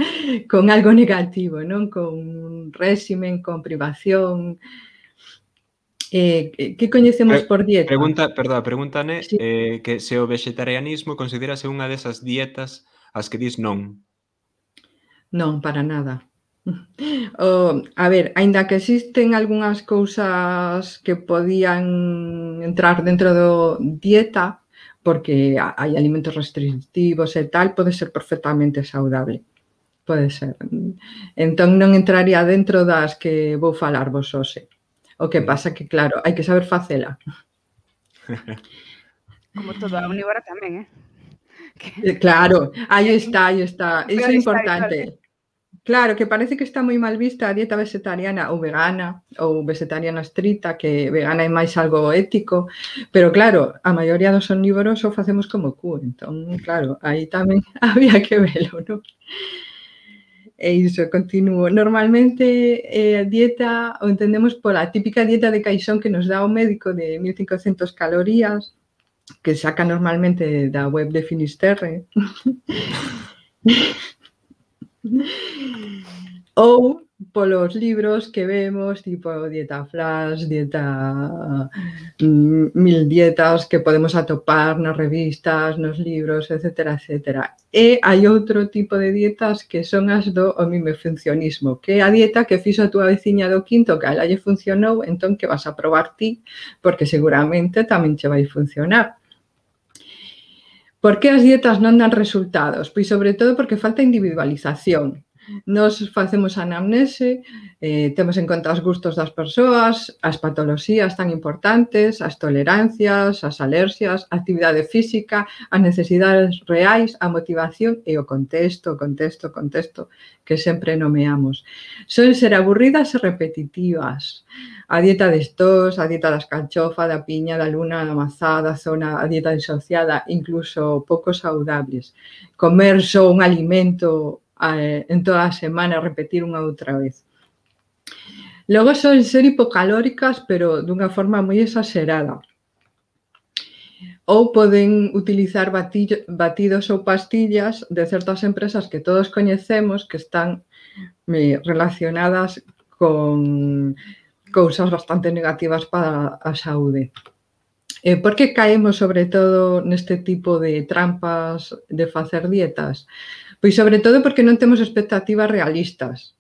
con algo negativo, non? Con réximen, con privación. Eh, que coñecemos por dieta? Pregunta, perdón, pregúntane Sí. eh, que se o vegetarianismo considerase unha desas dietas as que dis non. Non, para nada. O, a ver, aínda que existen algunhas cousas que podían entrar dentro do dieta, porque hai alimentos restrictivos e tal, pode ser perfectamente saudable. Pode ser. Entón non entraría dentro das que vou falar vos hoxe. O que pasa que, claro, hai que saber facela. Como todo, a omnívora tamén, eh? Que... Claro, aí está, aí está. Iso é importante. Claro, que parece que está moi mal vista a dieta vegetariana ou vegana, ou vegetariana estrita, que vegana é máis algo ético, pero claro, a maioría dos omnívoros o facemos como cu, entón, claro, aí tamén había que velo, non? E iso, continuo. Normalmente, eh, a dieta o entendemos pola típica dieta de caixón que nos dá o médico de mil cincocentas calorías, que saca normalmente da web de Finisterre. Ou polos libros que vemos, tipo Dieta Flash, Dieta mm, Mil Dietas que podemos atopar nas revistas, nos libros, etcétera, etcétera. E hai outro tipo de dietas que son as do homimefuncionismo, que é a dieta que fixo a túa veciña do quinto que a ela lle funcionou, entón que vas a probar ti, porque seguramente tamén che vai funcionar. Por que as dietas non dan resultados? Pois sobre todo porque falta individualización. Nos facemos anamnese, eh, temos en conta os gustos das persoas, as patoloxías tan importantes, as tolerancias, as alerxias, a actividade física, as necesidades reais, a motivación e o contexto, o contexto, o contexto que sempre nomeamos. Son ser aburridas e repetitivas. A dieta de estos, a dieta das calchofa, da piña, da luna, da mazá, da zona, a dieta disociada, incluso pouco saudables. Comer só un alimento en toda a semana, repetir unha outra vez. Logo son ser hipocalóricas, pero dunha forma moi exagerada. Ou poden utilizar batillo, batidos ou pastillas de certas empresas que todos coñecemos que están relacionadas con, cousas bastante negativas para a saúde. Eh, por que caemos sobre todo neste tipo de trampas de facer dietas? Pois sobre todo porque non temos expectativas realistas,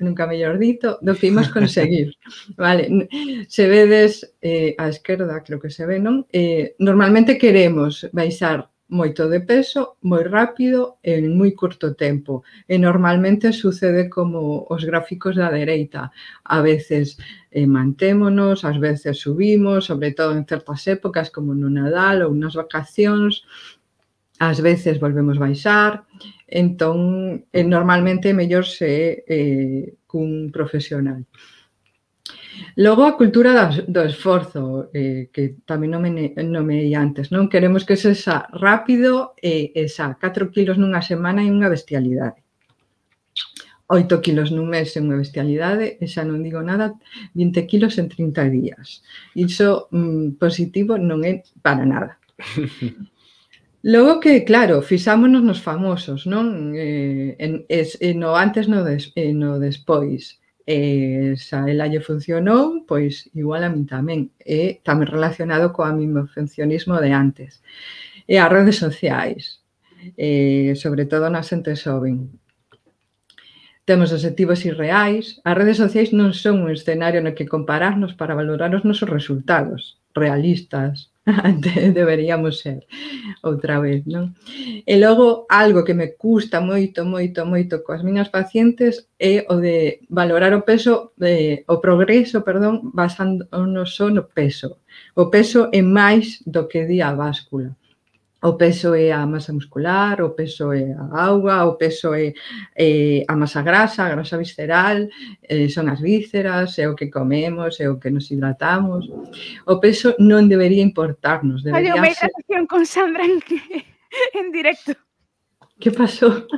nunca mellor dito, do que imos conseguir. Vale, se vedes eh, á esquerda, creo que se ve, non? Eh, normalmente queremos baixar moito de peso, moi rápido, en moi curto tempo. E normalmente sucede como os gráficos da dereita. A veces eh, mantémonos, ás veces subimos, sobre todo en certas épocas como no Nadal ou nas vacacións, ás veces volvemos baixar, entón eh, normalmente é mellor se eh, cun profesional. Logo, a cultura do esforzo, eh, que tamén nomeei antes, non? Queremos que sexa rápido e, e xa, catro kilos nunha semana é unha bestialidade. oito kilos nun mes é unha bestialidade, e xa non digo nada, vinte kilos en trinta días. Iso mm, positivo non é para nada. Logo que, claro, fixámonos nos famosos, non? Eh, en, es, no antes no, des, eh, no despois. E xa ela lle funcionou, pois igual a min tamén. E tamén relacionado coa mimofuncionismo de antes. E as redes sociais, eh, sobre todo na xente xoven. Temos obxectivos irreais. As redes sociais non son un escenario no que compararnos para valorar os nosos resultados realistas. Deberíamos ser outra vez, non? E logo, algo que me custa moito, moito, moito coas miñas pacientes é o de valorar o peso, eh, o progreso, perdón, basándonos só no peso. O peso é máis do que di a báscula. O peso é a masa muscular, o peso é a auga, o peso é, é a masa grasa, a grasa visceral, eh, son as vísceras, é o que comemos, é o que nos hidratamos. O peso non debería importarnos. Debería Oye, unha ser... hidratación con Sandra en, en directo. Que pasou?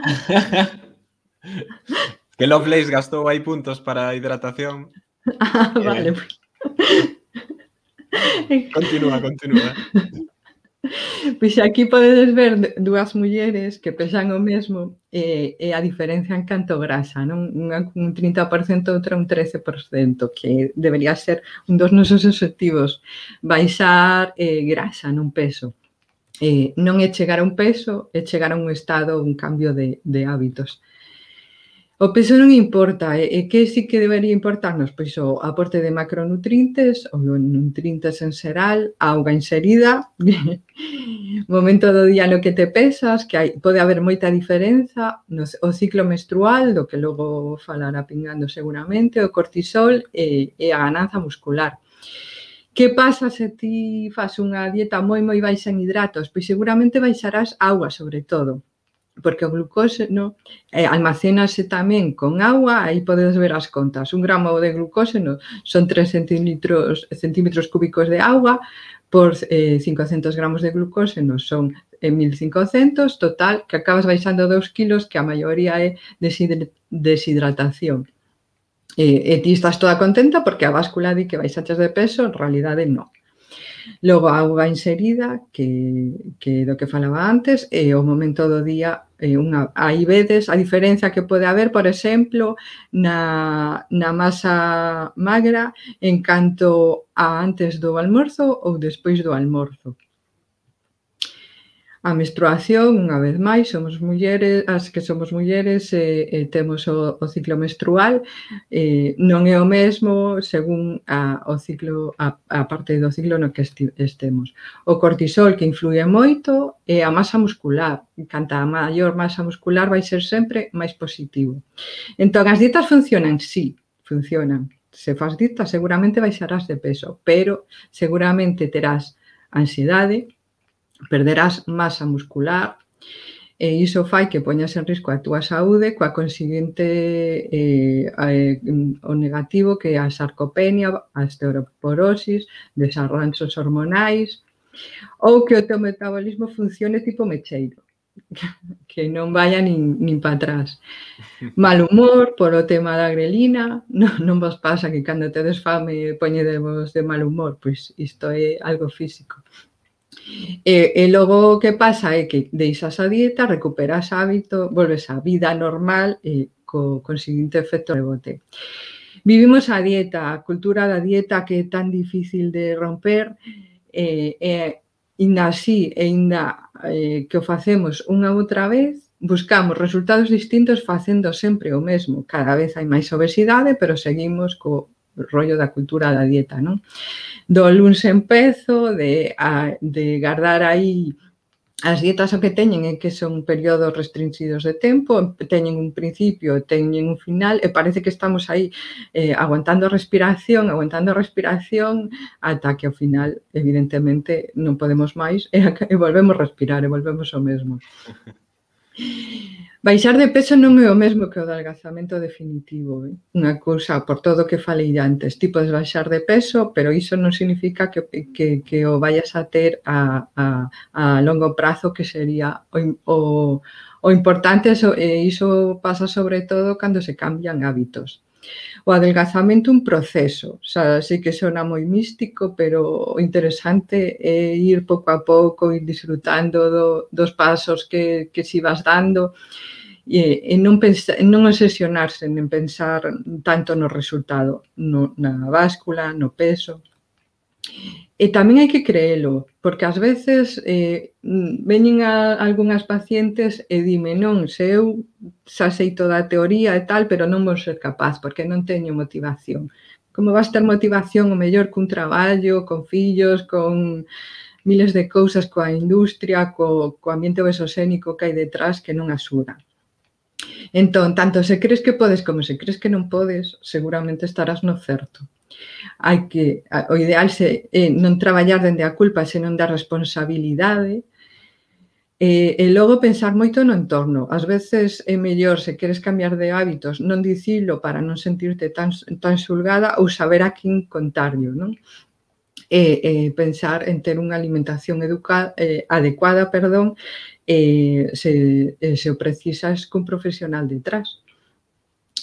Que Lovelace gastou aí puntos para a hidratación. Ah, vale. Eh, continúa, continúa. Pois aquí podedes ver dúas mulleres que pesan o mesmo e, e a diferencia en canto grasa, non? Unha un trinta por cento, outra un trece por cento, que debería ser un dos nosos obxectivos, baixar eh, grasa, non peso. Eh, non é chegar a un peso, é chegar a un estado, un cambio de, de hábitos. O peso non importa, e que sí que debería importarnos? Pois o aporte de macronutrientes, ou nutrientes en xeral, auga inserida, momento do día no que te pesas, que hai, pode haber moita diferenza, no, o ciclo menstrual, do que logo falará Pingando seguramente, o cortisol e, e a gananza muscular. Que pasa se ti fas unha dieta moi moi baixa en hidratos? Pois seguramente baixarás auga sobre todo, porque o glucóseno eh, almacénase tamén con auga, aí podes ver as contas. Un gramo de glucóseno son tres centímetros, centímetros cúbicos de auga, por eh, cincocentos gramos de glucóseno son eh, mil cincocentos, total, que acabas baixando dous kilos, que a maioría é deshidratación. E, e ti estás toda contenta porque a báscula di que baixaches de peso, en realidade non. Logo, a auga inserida, que, que do que falaba antes, e o momento do día, eh, unha, aí vedes a diferencia que pode haber, por exemplo, na, na masa magra en canto a antes do almorzo ou despois do almorzo. A menstruación, unha vez máis, somos mulleres, as que somos mulleres e, e temos o, o ciclo menstrual, eh, non é o mesmo según a, o ciclo, a, a parte do ciclo no que esti, estemos. O cortisol, que influye moito, é a masa muscular. Canta a maior masa muscular vai ser sempre máis positivo. Entón, as dietas funcionan? Sí, funcionan. Se faz dieta, seguramente baixarás de peso, pero seguramente terás ansiedade, perderás masa muscular e iso fai que poñas en risco a túa saúde coa conseguinte eh, eh, o negativo que é a sarcopenia, a osteoporosis, desarranxos hormonais ou que o teu metabolismo funcione tipo mecheiro, que non vaya nin, nin para atrás. Mal humor polo tema da grelina, non, non vos pasa que cando tedes fame poñedevos de mal humor, pois isto é algo físico. E, e logo o que pasa é que deixas a dieta, recuperas hábito, volves á vida normal e co conseguinte efecto rebote. Vivimos a dieta, a cultura da dieta que é tan difícil de romper, e, e ainda así, e ainda eh, que o facemos unha outra vez, buscamos resultados distintos facendo sempre o mesmo. Cada vez hai máis obesidade, pero seguimos co rollo da cultura da dieta, non? Do luns empezo, de, a, de guardar aí as dietas o que teñen é que son períodos restringidos de tempo, teñen un principio, teñen un final, e parece que estamos aí eh, aguantando a respiración, aguantando a respiración, ata que ao final, evidentemente, non podemos máis, e, e volvemos a respirar, e volvemos ao mesmo. Baixar de peso non é o mesmo que o de adelgazamento definitivo. Eh? Unha cousa, por todo o que falei antes, ti podes baixar de peso, pero iso non significa que, que, que o vayas a ter a, a, a longo prazo, que sería o, o, o importante, e iso pasa sobre todo cando se cambian hábitos. O adelgazamento é un proceso, xa sei que sona moi místico, pero o interesante é ir pouco a pouco, ir disfrutando do, dos pasos que, que si vas dando, e, e non, pensa, non obsesionarse en pensar tanto no resultado, no, na báscula, no peso. E tamén hai que creelo, porque ás veces eh, veñen a algunhas pacientes e dime, non, se eu xa sei toda a teoría e tal, pero non vou ser capaz, porque non teño motivación. Como vas ter motivación o mellor cun traballo, con fillos, con miles de cousas, coa industria, co, co ambiente obesosénico que hai detrás, que non axuda. Entón, tanto se crees que podes como se crees que non podes, seguramente estarás no certo. Hai que, o ideal é non traballar dende a culpa, senón da responsabilidade, e, e logo pensar moito no entorno. Ás veces é mellor, se queres cambiar de hábitos, non dicilo para non sentirte tan, tan xulgada, ou saber a quen contarlo, non? E, e pensar en ter unha alimentación educada, eh, adecuada, perdón, e se, se o precisas cun profesional detrás.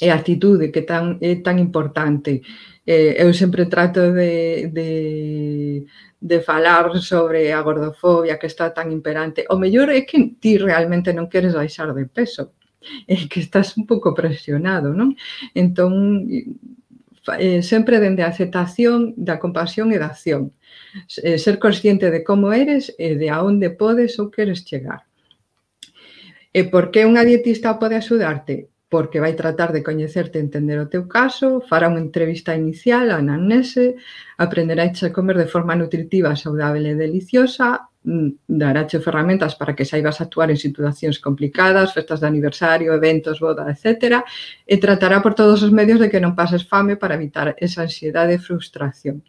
E a actitude, que tan, é tan importante. Eh, eu sempre trato de, de, de falar sobre a gordofobia, que está tan imperante. O mellor é que ti realmente non queres baixar de peso, é que estás un pouco presionado, non? Entón, eh, sempre dende a aceptación da compasión e da acción. Eh, ser consciente de como eres e de a onde podes ou queres chegar. E por que unha dietista pode axudarte? Porque vai tratar de coñecerte e entender o teu caso, fará unha entrevista inicial, a anamnese, aprenderáche a comer de forma nutritiva, saudável e deliciosa, daráche ferramentas para que saibas actuar en situacións complicadas, festas de aniversario, eventos, boda, etcétera, e tratará por todos os medios de que non pases fame para evitar esa ansiedade e frustración.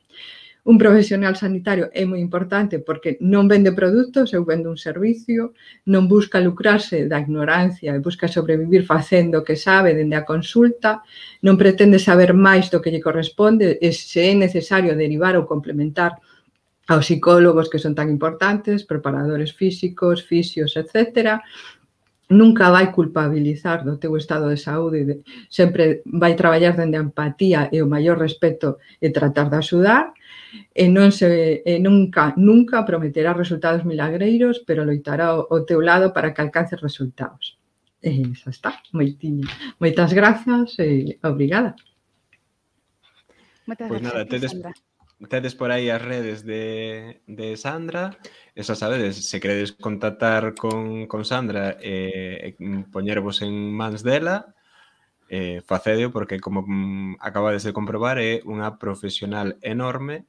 Un profesional sanitario é moi importante porque non vende produtos, eu vendo un servicio, non busca lucrarse da ignorancia e busca sobrevivir facendo o que sabe dende a consulta, non pretende saber máis do que lle corresponde e se é necesario derivar ou complementar aos psicólogos que son tan importantes, preparadores físicos, fisios, etcétera. Nunca vai culpabilizar do teu estado de saúde, sempre vai traballar dende a empatía e o maior respeto e tratar de axudar. E non se, e nunca, nunca prometerá resultados milagreiros, pero loitará ao, ao teu lado para que alcances resultados. E xa está, moitiño. Moitas grazas e obrigada. Moitas Pois grazas, nada, tedes, Sandra. tedes por aí as redes de, de Sandra, e xa sabedes, se queredes contactar con, con Sandra e eh, poñervos en mans dela, eh, facedeo, porque como mm, acabades de comprobar, é unha profesional enorme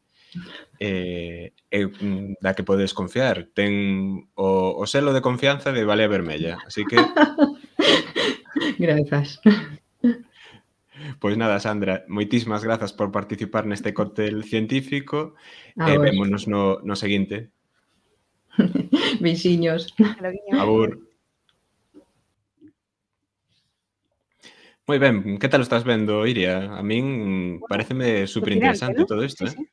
e, e da que podes confiar. Ten o, o selo de confianza de Balea Vermella, así que... Grazas. Pois nada, Sandra, moitísimas grazas por participar neste cóctel científico A e vos. vémonos no, no seguinte. Beixiños. Abur. Moi ben, que tal o estás vendo, Iria? A min pareceme superinteresante ¿no? todo isto, Sí, eh? sí.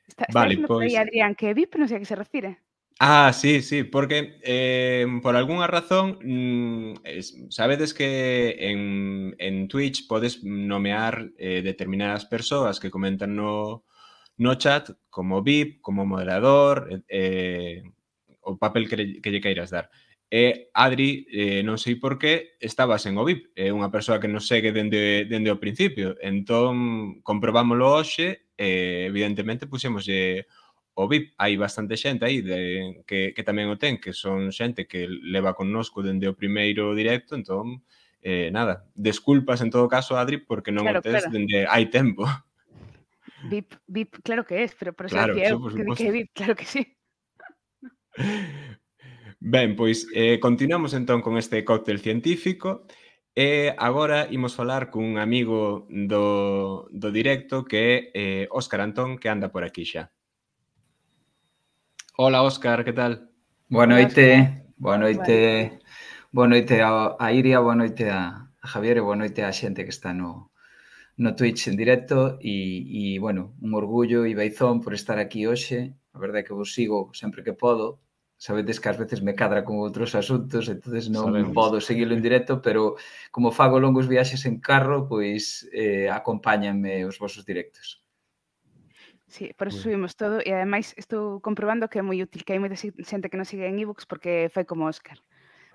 Está, está Vale, diciendo por ahí pois... Adrián que V I P, no sé a qué se refiere. Ah, sí, sí, porque eh, por algunha razón mmm, es, sabedes que en, en Twitch podes nomear eh, determinadas persoas que comentan no, no chat como V I P, como moderador, eh, o papel que, que lle queiras dar. E Adri, eh, non sei por qué, estaba sen o V I P. É unha persoa que nos segue dende, dende o principio. Entón, comprobámoslo hoxe e, evidentemente, puxémoslle o V I P. Hai bastante xente aí de, que, que tamén o ten, que son xente que leva connosco dende o primeiro directo. Entón, eh, nada, desculpas en todo caso, Adri, porque non o Claro, tes claro. dende hai tempo. V I P, V I P, claro que es, pero por eso Claro, decía eso eu por que di que é suposto. V I P, claro que sí. Ben, pois eh, continuamos entón con este cóctel científico e agora imos falar cun amigo do, do directo que é eh, Óscar Antón, que anda por aquí xa. Hola, Óscar, que tal? Boa Hola, noite, Óscar. boa noite, boa noite a, a Iria, boa noite a, a Javier e boa noite á xente que está no, no Twitch en directo e, e, bueno, un orgullo e beizón por estar aquí hoxe. A verdade é que vos sigo sempre que podo. Sabedes que ás veces me cadra con outros asuntos, entonces non Sabemos. podo seguirlo en directo, pero como fago longos viaxes en carro, pois eh, acompáñanme os vosos directos. Sí, por eso Bueno. subimos todo e ademais estou comprobando que é moi útil, que hai moita xente que nos sigue en ebooks porque fai como Óscar.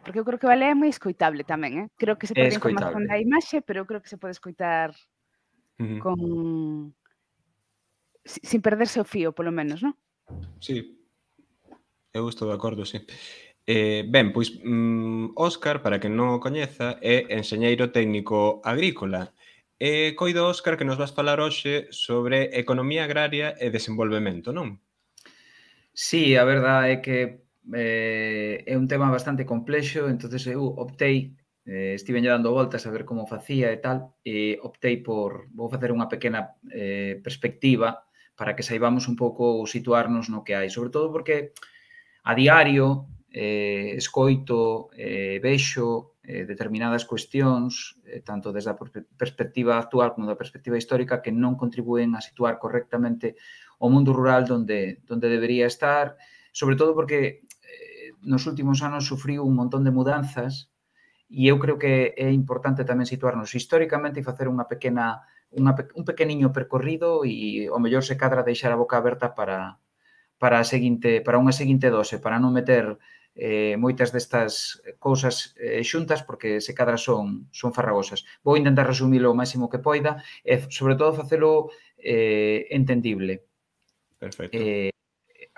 Porque eu creo que vale é moi escoitable tamén, eh? Creo que se É perde información escoitable. da imaxe, pero eu creo que se pode escoitar Ujú. con si- sin perderse o fío, polo menos, non? Sí, eu estou de acordo, sí. Eh, ben, pois mm, Óscar, para quen non o coñeza, é enxeñeiro técnico agrícola. E coido, Óscar, que nos vas falar hoxe sobre economía agraria e desenvolvemento, non? Sí, a verdade é que eh, é un tema bastante complexo, entonces eu optei, eh, estive dando voltas a ver como facía e tal, e optei por, vou facer unha pequena eh, perspectiva para que saibamos un pouco situarnos no que hai, sobre todo porque a diario eh, escoito, eh, vexo eh, determinadas cuestións, eh, tanto desde a perspectiva actual como da perspectiva histórica, que non contribúen a situar correctamente o mundo rural donde, donde debería estar, sobre todo porque eh, nos últimos anos sufriu un montón de mudanzas e eu creo que é importante tamén situarnos históricamente e facer unha pequena, unha, un pequeniño percorrido e ao mellor se cadra deixar a boca aberta para, para, a seguinte, para unha seguinte dose, para non meter eh, moitas destas cousas eh, xuntas porque se cadra son, son farragosas. Vou intentar resumilo o máximo que poida e, sobre todo, facelo eh, entendible. Perfecto. Eh,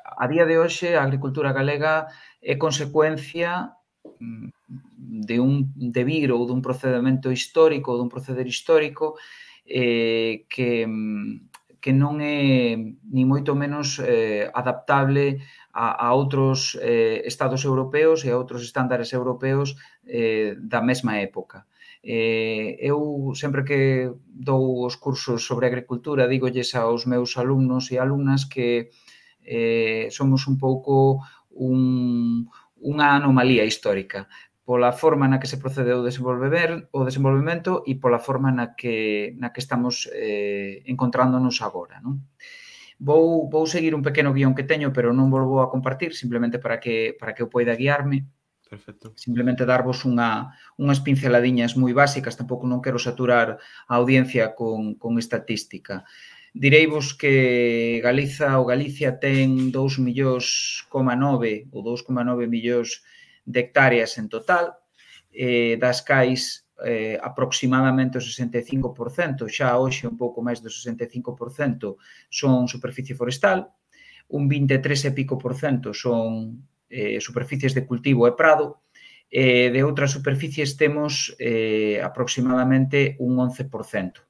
a día de hoxe, a agricultura galega é consecuencia de un devir ou dun procedimento histórico ou dun proceder histórico eh, que, que non é ni moito menos eh, adaptable a, a outros eh, estados europeos e a outros estándares europeos eh, da mesma época. Eh, eu sempre que dou os cursos sobre agricultura dígolles aos meus alumnos e alumnas que eh, somos un pouco un, unha anomalía histórica pola forma na que se procedeu o desenvolvemento e pola forma na que, na que estamos eh, encontrándonos agora. Non? Vou, vou seguir un pequeno guión que teño, pero non volvo a compartir, simplemente para que, para que eu poida guiarme. Perfecto. Simplemente darvos unha, unhas pinceladiñas moi básicas, tampouco non quero saturar a audiencia con, con estatística. Direivos que Galiza ou Galicia ten dous millóns coma nove ou dous coma nove millóns de hectáreas en total, eh, das cais eh, aproximadamente o sesenta e cinco por cento, xa hoxe un pouco máis do sesenta e cinco por cento son superficie forestal, un vinte e tres e pico por cento son eh, superficies de cultivo e prado, e de outras superficies temos eh, aproximadamente un once por cento.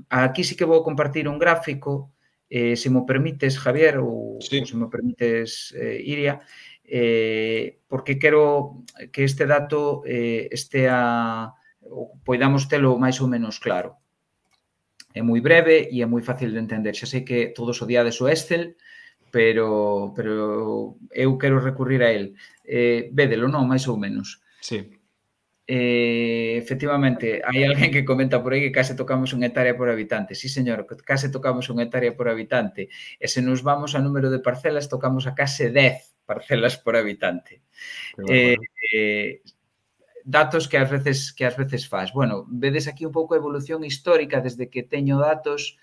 Aquí sí que vou compartir un gráfico, eh, se mo permites, Javier, ou, sí. ou se mo permites, eh, Iria, eh, porque quero que este dato eh, estea, ou poidamos telo máis ou menos claro. É moi breve e é moi fácil de entender. Xa sei que todos odiades o Excel, pero, pero eu quero recurrir a el. Eh, védelo, non? Máis ou menos. Sí. Eh, efectivamente, hai alguén que comenta por aí que case tocamos unha hectárea por habitante. Sí, señor, case tocamos unha hectárea por habitante. E se nos vamos a número de parcelas, tocamos a case dez parcelas por habitante. Eh, eh, datos que ás veces que ás veces faz. Bueno, vedes aquí un pouco a evolución histórica desde que teño datos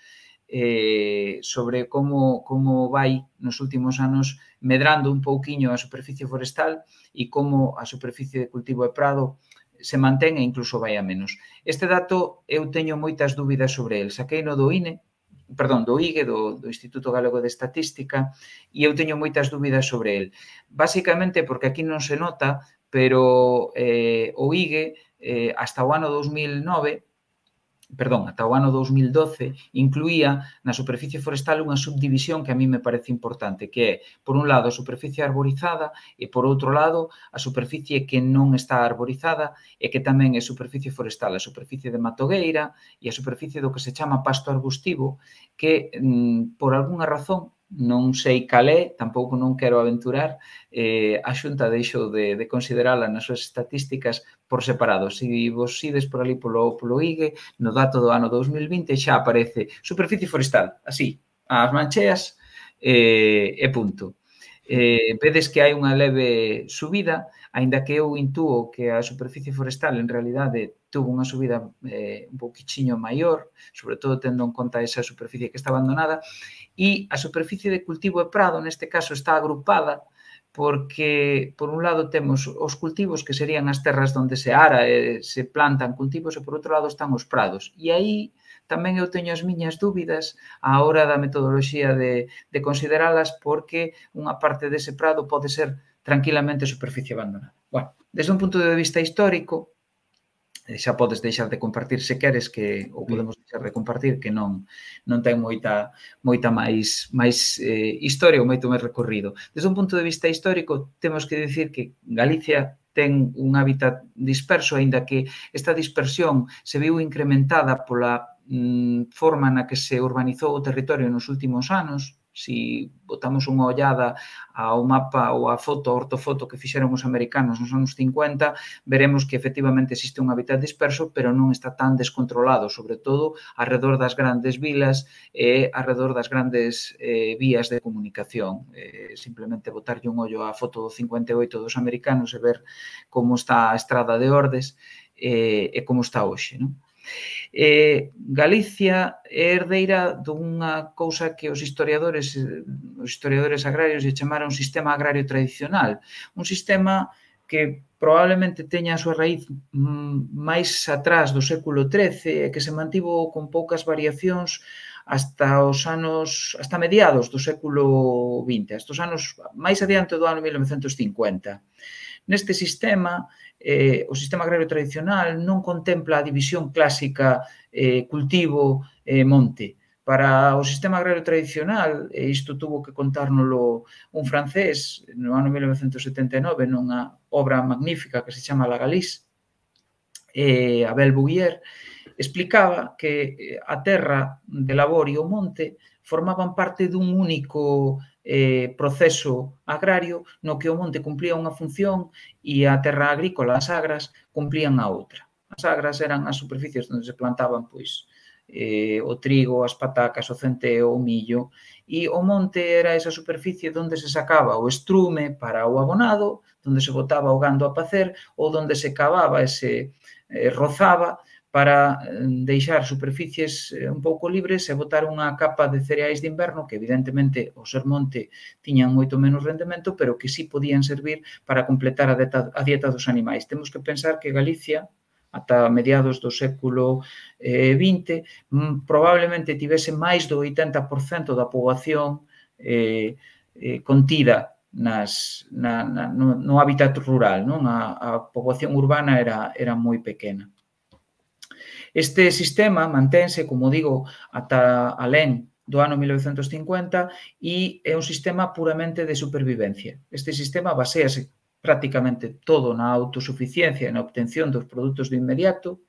eh, sobre como, como vai nos últimos anos medrando un pouquiño a superficie forestal e como a superficie de cultivo e prado se mantén e incluso vai a menos. Este dato eu teño moitas dúbidas sobre el. Saquei no do I N E, perdón, do I G E, do, do Instituto Galego de Estatística, e eu teño moitas dúbidas sobre el. Básicamente porque aquí non se nota, pero eh, o I G E eh, hasta o ano dous mil nove, perdón, ata o ano dous mil doce, incluía na superficie forestal unha subdivisión que a mí me parece importante, que é, por un lado, a superficie arborizada e, por outro lado, a superficie que non está arborizada e que tamén é superficie forestal, a superficie de matogueira e a superficie do que se chama pasto arbustivo, que, por algunha razón, non sei cal é, tampouco non quero aventurar, eh, a Xunta deixou de, de considerala nas súas estatísticas por separado. Se vos ides por ali polo, polo I G E, no dato do ano dous mil vinte xa aparece superficie forestal, así, as mancheas eh, e punto. Eh, vedes que hai unha leve subida, aínda que eu intúo que a superficie forestal en realidade tuvo unha subida eh, un pouquichiño maior, sobre todo tendo en conta esa superficie que está abandonada, e a superficie de cultivo e prado, neste caso, está agrupada porque, por un lado, temos os cultivos que serían as terras onde se ara e se plantan cultivos e, por outro lado, están os prados. E aí tamén eu teño as miñas dúbidas á hora da metodoloxía de, de consideralas porque unha parte dese prado pode ser tranquilamente superficie abandonada. Bueno, desde un punto de vista histórico, xa podes deixar de compartir se queres, que ou podemos deixar de compartir, que non non ten moita moita máis máis eh, historia ou moito máis recorrido. Desde un punto de vista histórico, temos que dicir que Galicia ten un hábitat disperso, aínda que esta dispersión se viu incrementada pola mm, forma na que se urbanizou o territorio nos últimos anos. Si botamos unha ollada ao mapa ou á foto, a ortofoto que fixeron os americanos nos anos cincuenta, veremos que efectivamente existe un hábitat disperso, pero non está tan descontrolado, sobre todo alrededor das grandes vilas e alrededor das grandes eh, vías de comunicación. Eh, simplemente botarlle un ollo á foto do cincuenta e oito dos americanos e ver como está a estrada de Ordes eh, e como está hoxe, non? Eh, Galicia é herdeira dunha cousa que os historiadores os historiadores agrarios lle chamaron sistema agrario tradicional, un sistema que probablemente teña a súa raíz máis atrás do século trece e que se mantivo con poucas variacións hasta os anos, hasta mediados do século vinte, hasta os anos máis adiante do ano mil novecentos cincuenta. Neste sistema, eh, o sistema agrario tradicional non contempla a división clásica eh, cultivo-monte. Para o sistema agrario tradicional, e isto tuvo que contárnolo un francés no ano mil novecentos setenta e nove nunha obra magnífica que se chama La Galice, eh, Abel Bouguier, explicaba que a terra de labor e o monte formaban parte dun único eh, proceso agrario no que o monte cumplía unha función e a terra agrícola, as agras, cumplían a outra. As agras eran as superficies onde se plantaban pois, eh, o trigo, as patacas, o centeo, o millo, e o monte era esa superficie onde se sacaba o estrume para o abonado, onde se botaba o gando a pacer ou onde se cavaba e se eh, rozaba para deixar superficies un pouco libres e botar unha capa de cereais de inverno que, evidentemente, ao ser monte tiñan moito menos rendemento, pero que sí podían servir para completar a dieta, a dieta dos animais. Temos que pensar que Galicia, ata mediados do século vinte, probablemente tivese máis do oitenta por cento da poboación eh, eh, contida nas, na, na, no, no hábitat rural, non? A, a poboación urbana era, era moi pequena. Este sistema mantense, como digo, ata alén do ano mil novecentos cincuenta e é un sistema puramente de supervivencia. Este sistema baséase prácticamente todo na autosuficiencia e na obtención dos produtos de inmediato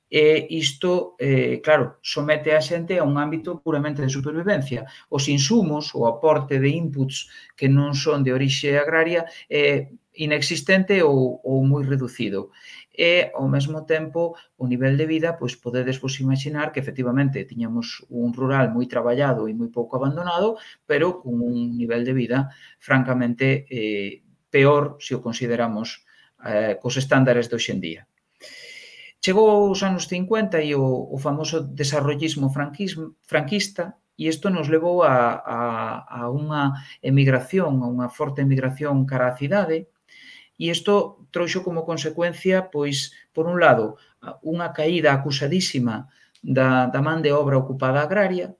e isto, eh, claro, somete a xente a un ámbito puramente de supervivencia. Os insumos, o aporte de inputs que non son de orixe agraria é inexistente ou, ou moi reducido. E, ao mesmo tempo, o nivel de vida, pois podedes vos imaginar que, efectivamente, tiñamos un rural moi traballado e moi pouco abandonado, pero con un nivel de vida francamente eh, peor se o consideramos eh, cos estándares de hoxendía. Chegou os anos cincuenta e o, o famoso desarrollismo franquista e isto nos levou a, a, a unha emigración, a unha forte emigración cara á cidade e isto trouxo como consecuencia, pois, por un lado, unha caída acusadísima da, da man de obra ocupada agraria,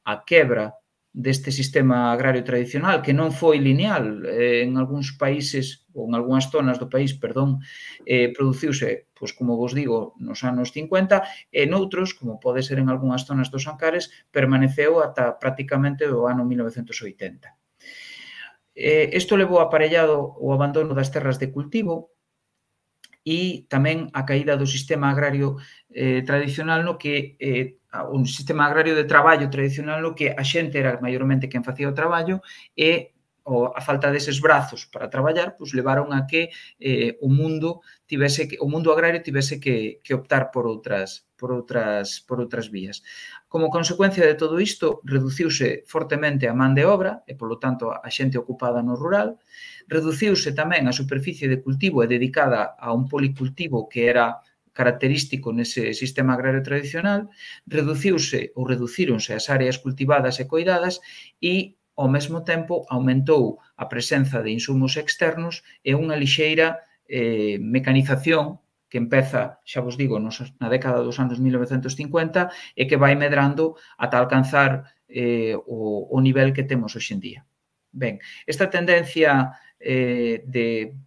a quebra deste sistema agrario tradicional, que non foi lineal. Eh, en algúns países, ou en algúnas zonas do país, perdón, eh, produciuse, pois, como vos digo, nos anos cincuenta, e noutros, como pode ser en algúnas zonas dos Ancares, permaneceu ata prácticamente o ano mil novecentos oitenta. Eh, isto levou aparellado o abandono das terras de cultivo e tamén a caída do sistema agrario eh, tradicional no que eh, un sistema agrario de traballo tradicional no que a xente era maiormente quen facía o traballo e o, a falta deses brazos para traballar pois levaron a que eh, o mundo tivese que, o mundo agrario tivese que, que optar por outras por outras por outras vías. Como consecuencia de todo isto, reduciuse fortemente a man de obra e, polo tanto, a xente ocupada no rural, reduciuse tamén a superficie de cultivo e dedicada a un policultivo que era característico nese sistema agrario tradicional, reduciuse ou reducíronse as áreas cultivadas e coidadas e, ao mesmo tempo, aumentou a presenza de insumos externos e unha lixeira eh, mecanización que empeza, xa vos digo, nos, na década dos anos mil novecentos cincuenta e que vai medrando ata alcanzar eh, o, o nivel que temos hoxe en día. Ben, esta tendencia eh, de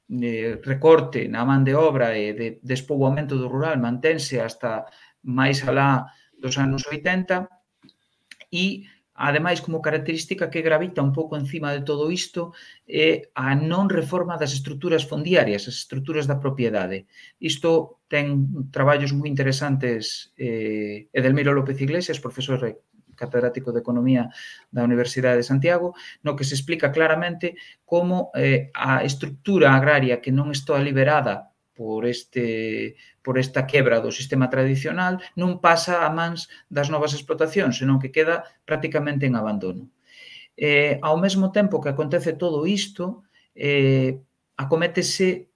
de recorte na man de obra e de despoboamento do rural mantense hasta máis alá dos anos oitenta e, ademais, como característica que gravita un pouco encima de todo isto é a non reforma das estruturas fondiarias, as estruturas da propiedade. Isto ten traballos moi interesantes eh, Edelmiro López Iglesias, profesor catedrático de Economía da Universidade de Santiago, no que se explica claramente como eh, a estrutura agraria que non está liberada por, este, por esta quebra do sistema tradicional non pasa a mans das novas explotacións, senón que queda prácticamente en abandono. Eh, ao mesmo tempo que acontece todo isto, eh, acométese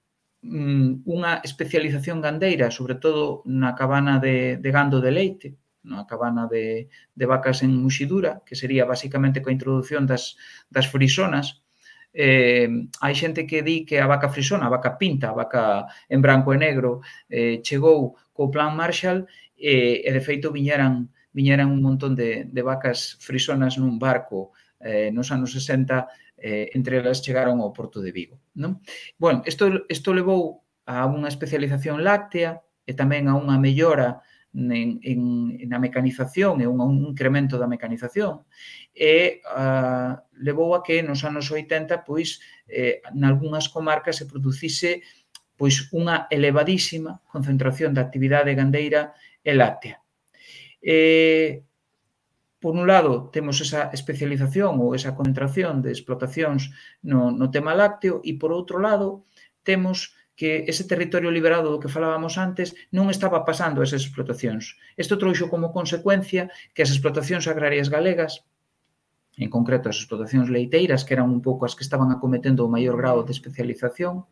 mm, unha especialización gandeira, sobre todo na cabana de, de gando de leite, na cabana de, de vacas en muxidura, que sería basicamente coa introducción das, das frisonas. Eh, hai xente que di que a vaca frisona, a vaca pinta, a vaca en branco e negro, eh, chegou co plan Marshall e, e de feito viñeran, viñeran un montón de, de vacas frisonas nun barco eh, nos anos sesenta, eh, entre elas chegaron ao Porto de Vigo. Non? Bueno, isto, isto levou a unha especialización láctea e tamén a unha mellora En, en, na mecanización e un, un incremento da mecanización e uh, levou a que nos anos oitenta pois eh, nalgúnas comarcas se producise pois unha elevadísima concentración de actividade gandeira e láctea. Eh, por un lado temos esa especialización ou esa concentración de explotacións no, no tema lácteo e por outro lado temos que ese territorio liberado do que falábamos antes non estaba pasando a esas explotacións. Isto trouxo como consecuencia que as explotacións agrarias galegas, en concreto as explotacións leiteiras, que eran un pouco as que estaban acometendo o maior grado de especialización,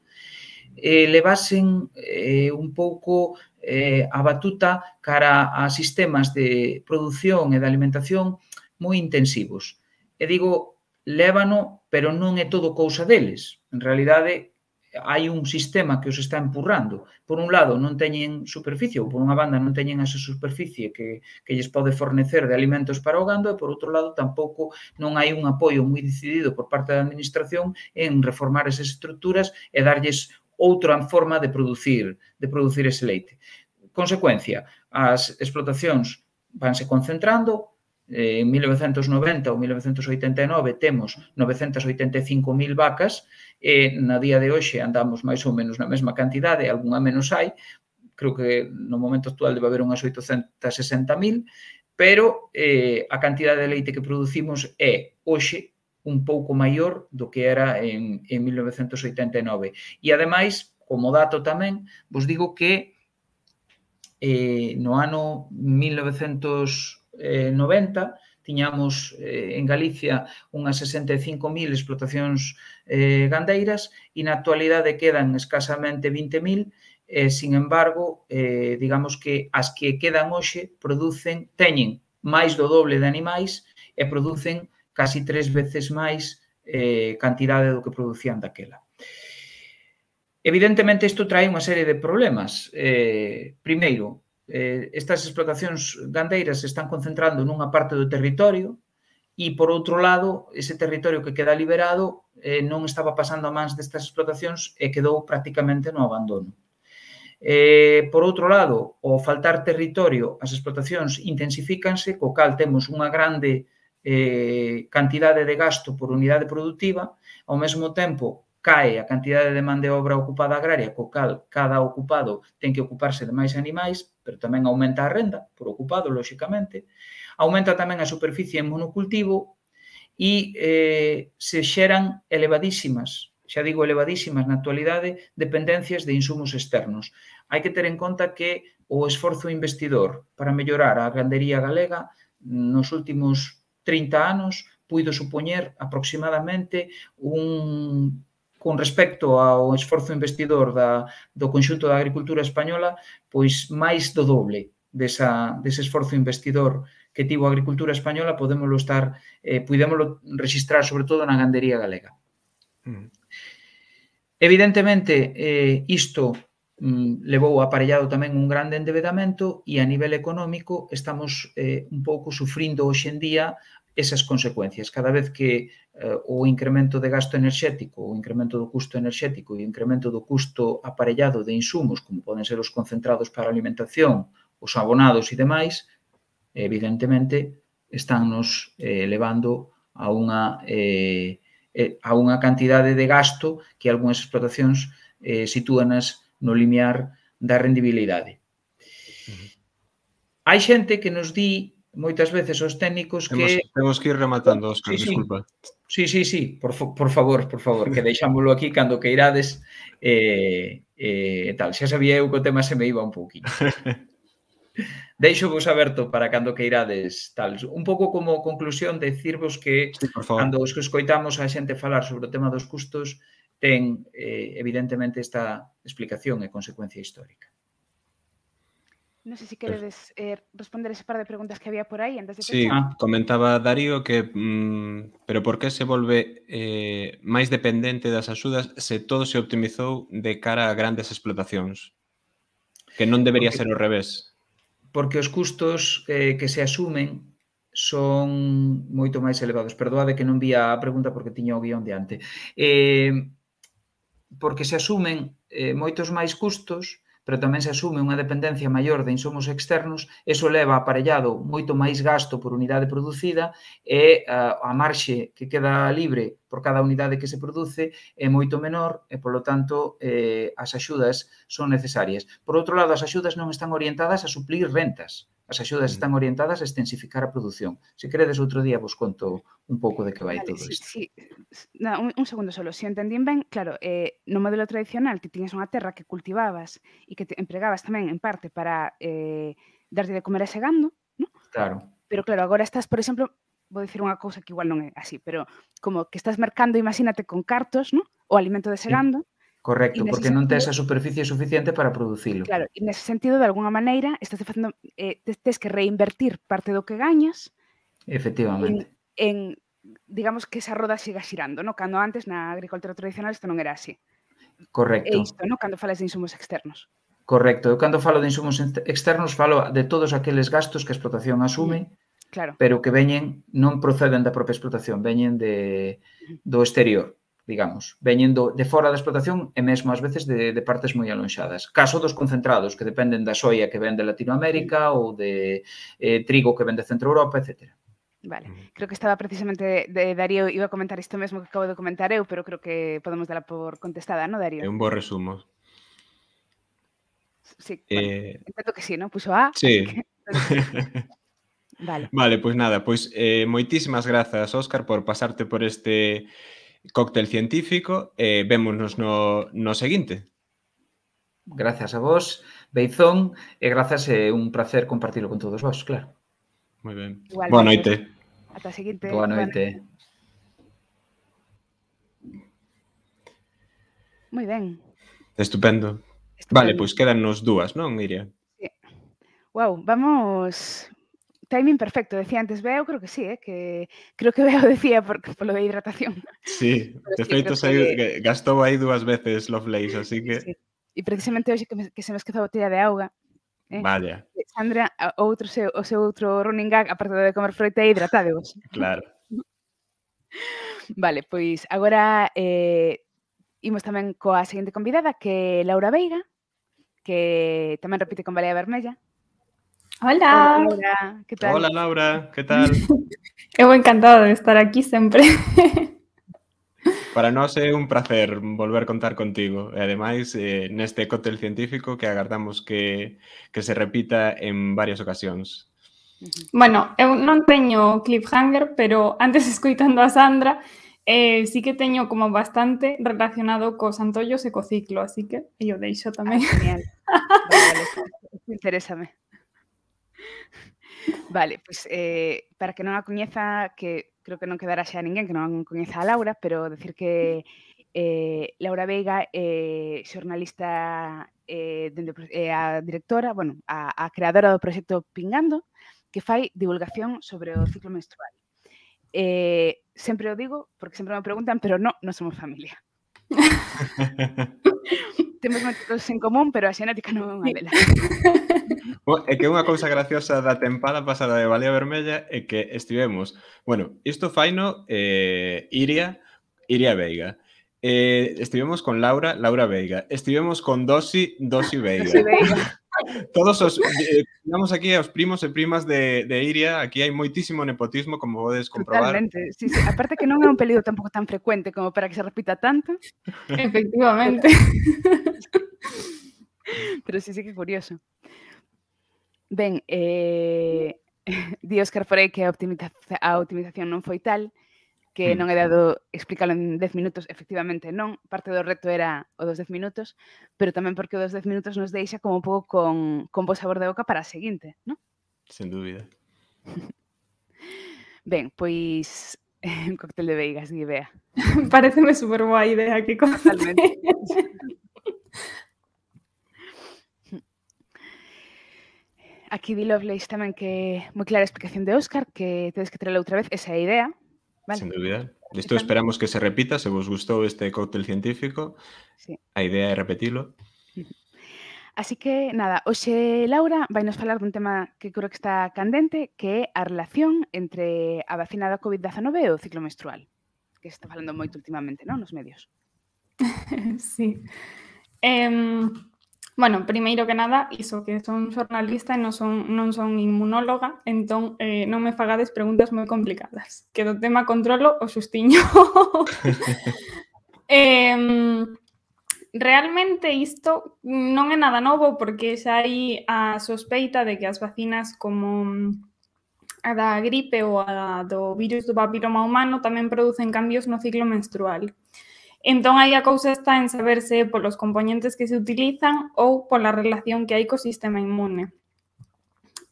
eh, levasen eh, un pouco eh, a batuta cara a sistemas de produción e de alimentación moi intensivos. E digo, lévano, pero non é todo cousa deles. En realidade, hai un sistema que os está empurrando. Por un lado, non teñen superficie, ou por unha banda non teñen esa superficie que, que lles pode fornecer de alimentos para o gando, e por outro lado, tampouco non hai un apoio moi decidido por parte da administración en reformar esas estruturas e darlles outra forma de producir, de producir ese leite. Consecuencia, as explotacións vanse concentrando. En mil novecentos noventa ou mil novecentos oitenta e nove temos novecentas oitenta e cinco mil vacas e na día de hoxe andamos máis ou menos na mesma cantidade, algunha menos hai, creo que no momento actual debe haber unhas oitocentas sesenta mil, pero eh, a cantidade de leite que producimos é hoxe un pouco maior do que era en, en mil novecentos oitenta e nove. E, ademais, como dato tamén, vos digo que eh, no ano mil novecentos noventa tiñamos eh, en Galicia unhas sesenta e cinco mil explotacións eh, gandeiras e na actualidade quedan escasamente vinte mil e, sin embargo, eh, digamos que as que quedan hoxe producen, teñen máis do doble de animais e producen casi tres veces máis eh, cantidade do que producían daquela. Evidentemente, isto trae unha serie de problemas. Eh, primeiro, eh, estas explotacións gandeiras se están concentrando nunha parte do territorio e, por outro lado, ese territorio que queda liberado eh, non estaba pasando a mans destas explotacións e quedou prácticamente no abandono. Eh, por outro lado, ao faltar territorio, as explotacións intensifícanse, co cal temos unha grande eh, cantidade de gasto por unidade productiva, ao mesmo tempo cae a cantidade de man de obra ocupada agraria, co cal cada ocupado ten que ocuparse de máis animais, pero tamén aumenta a renda por ocupado, lóxicamente. Aumenta tamén a superficie en monocultivo e eh, se xeran elevadísimas, xa digo elevadísimas na actualidade, dependencias de insumos externos. Hai que ter en conta que o esforzo investidor para mellorar a gandería galega nos últimos trinta anos puido supoñer aproximadamente un con respecto ao esforzo investidor da, do conxunto da agricultura española, pois máis do doble desa, dese esforzo investidor que tivo a agricultura española, podémoslo estar, eh, podémoslo registrar sobre todo na gandería galega. Mm. Evidentemente, eh, isto mm, levou aparellado tamén un grande endevedamento e a nivel económico estamos eh, un pouco sufrindo hoxe en día esas consecuencias. Cada vez que eh, o incremento de gasto enerxético, o incremento do custo enerxético e o incremento do custo aparellado de insumos, como poden ser os concentrados para a alimentación, os abonados e demais, evidentemente, estánnos eh, levando a unha, eh, a unha cantidade de gasto que algunhas explotacións eh, sitúanas no limiar da rendibilidade. Hai xente que nos di moitas veces os técnicos que... Temos, temos que ir rematando, Óscar, sí, disculpa. Sí, sí, sí, por, por favor, por favor, que deixámoslo aquí cando que irades e eh, eh, tal. Xa sabía eu que o tema se me iba un pouquinho. Deixo vos aberto para cando que irades tal. Un pouco como conclusión, decirvos que sí, cando os que escoitamos a xente falar sobre o tema dos custos ten, eh, evidentemente, esta explicación e consecuencia histórica. Non sei se queredes eh, responder ese par de preguntas que había por aí antes de Sí, pechar. ah. Comentaba Darío que mmm, pero por que se volve eh, máis dependente das axudas se todo se optimizou de cara a grandes explotacións? Que non debería porque, ser ao revés. Porque os custos eh, que se asumen son moito máis elevados. Perdoade que non vi a pregunta porque tiña o guión de ante. Eh, porque se asumen eh, moitos máis custos, pero tamén se asume unha dependencia maior de insumos externos, eso leva aparellado moito máis gasto por unidade producida e a, a marxe que queda libre por cada unidade que se produce é moito menor e, polo tanto, eh, as axudas son necesarias. Por outro lado, as axudas non están orientadas a suplir rentas. As axudas están orientadas a extensificar a produción. Se queredes, outro día vos conto un pouco de que vai vale, todo sí, isto. Sí. No, un, un segundo solo. Se si entendín ben, claro, eh, no modelo tradicional ti tiñas unha terra que cultivabas e que te empregabas tamén en parte para eh, darlle de comer a ese gando, ¿no? Claro. Pero claro, agora estás, por exemplo, vou dicir unha cousa que igual non é así, pero como que estás mercando, imagínate, con cartos, ¿no? O alimento dese Sí. gando. Correcto, porque non tes sentido, a superficie suficiente para producilo. Claro, e nese sentido, de alguna maneira, estás facendo, eh, tes que reinvertir parte do que gañas Efectivamente. En, en, digamos, que esa roda siga xirando, no? Cando antes, na agricultura tradicional, isto non era así. Correcto. É isto, no? Cando falas de insumos externos. Correcto. Eu cando falo de insumos externos falo de todos aqueles gastos que a explotación asume, mm, claro. pero que veñen, non proceden da propia explotación, veñen de, do exterior, digamos, veñen do, de fora da explotación e mesmo ás veces de, de partes moi alonxadas. Caso dos concentrados, que dependen da soia que ven de Latinoamérica mm. ou de eh, trigo que ven de Centro Europa, etcétera. Vale, creo que estaba precisamente de, de Darío, iba a comentar isto mesmo que acabo de comentar eu, pero creo que podemos dala por contestada, ¿no, Darío? É un bo resumo. Sí, eh... bueno, entendo que sí, ¿no? Puxo A, sí. así que... Vale. Vale, pois pues nada, pois pues, eh, moitísimas grazas, Óscar, por pasarte por este cóctel científico e eh, vémonos no, no seguinte. Gracias a vos, Beizón, e grazas, é eh, un placer compartilo con todos vos, claro. Moi ben. Igualmente. Boa noite. Ata a seguinte. Boa noite. Moi ben. Estupendo. Vale, pois quedannos dúas, non, Iria? Sí. Wow, vamos... Timing perfecto, decía antes Beo, creo que sí, eh? que creo que Beo decía por, por lo de hidratación. Sí, Pero de sí, feito creo que... que gastou aí dúas veces Lovelace, así que... Sí. E precisamente hoxe que, me, que se me esqueza a botella de auga, eh? Vaya. Sandra, outro seu, o seu outro running gag, aparte de comer froita, é hidratádevos. Claro. Vale, pois agora eh, imos tamén coa seguinte convidada, que é Laura Veiga, que tamén repite con Balea Vermella. Hola. Hola, Laura, que tal? Hola, Laura, que tal? Eu encantada de estar aquí sempre. Para nós é un placer volver contar contigo e ademais eh, neste cóctel científico que agardamos que, que se repita en varias ocasións. Bueno, eu non teño cliffhanger, pero antes escoitando a Sandra, eh, sí que teño como bastante relacionado cos antollos e co ciclo, así que eu deixo tamén. Ah, genial. Vale, vale, interésame. Vale, pois eh, para que non a coñeza, que creo que non quedará xa ninguén que non coñeza a Laura, pero decir que eh, Laura Veiga é eh, xornalista eh, dende, eh, a directora, bueno, a, a creadora do proxecto Pingando, que fai divulgación sobre o ciclo menstrual. Eh, sempre o digo, porque sempre me preguntan, pero non, non somos familia. Temos moitos en común, pero a xenética non é unha delas. É que unha cousa graciosa da tempada pasada de Balea Vermella é que estivemos, bueno, isto faino eh, Iria, Iria Veiga. Eh, estivemos con Laura, Laura Veiga. Estivemos con Dosi, Dosi Veiga. Dosi Veiga. Todos os, eh, digamos aquí aos primos e primas de, de Iria, aquí hai moitísimo nepotismo, como podes comprobar. Totalmente, sí, sí. Aparte que non é un apelido tampouco tan frecuente como para que se repita tanto. Efectivamente. Pero sí, sí que curioso. Ben, eh, di Óscar Forey que a, optimiza a optimización non foi tal, que non é dado explicarlo en dez minutos, efectivamente non, parte do reto era o dos dez minutos, pero tamén porque o dos dez minutos nos deixa como un pouco con, con bo sabor de boca para a seguinte, non? Sen dúbida. Ben, pois un cóctel de veigas, di Bea. Pareceme super boa idea que Totalmente. Aquí di Lovelace tamén que moi clara a explicación de Óscar, que tedes que traerla outra vez, esa é a idea. Vale. Sen dúbida. Isto esperamos que se repita, se vos gustou este cóctel científico. Sí. A idea é repetilo. Así que, nada, hoxe Laura vai nos falar dun tema que creo que está candente, que é a relación entre a vacina da covid dezanove e o ciclo menstrual, que se está falando moito últimamente, non, nos medios. Sí. Eh, bueno, primeiro que nada, iso que son xornalista e non son, non son inmunóloga, entón eh, non me fagades preguntas moi complicadas, que do tema controlo o xustiño. eh, realmente isto non é nada novo porque xa hai a sospeita de que as vacinas como a da gripe ou a do virus do papiloma humano tamén producen cambios no ciclo menstrual. Entón, aí a cousa está en saberse polos componentes que se utilizan ou pola relación que hai co sistema inmune.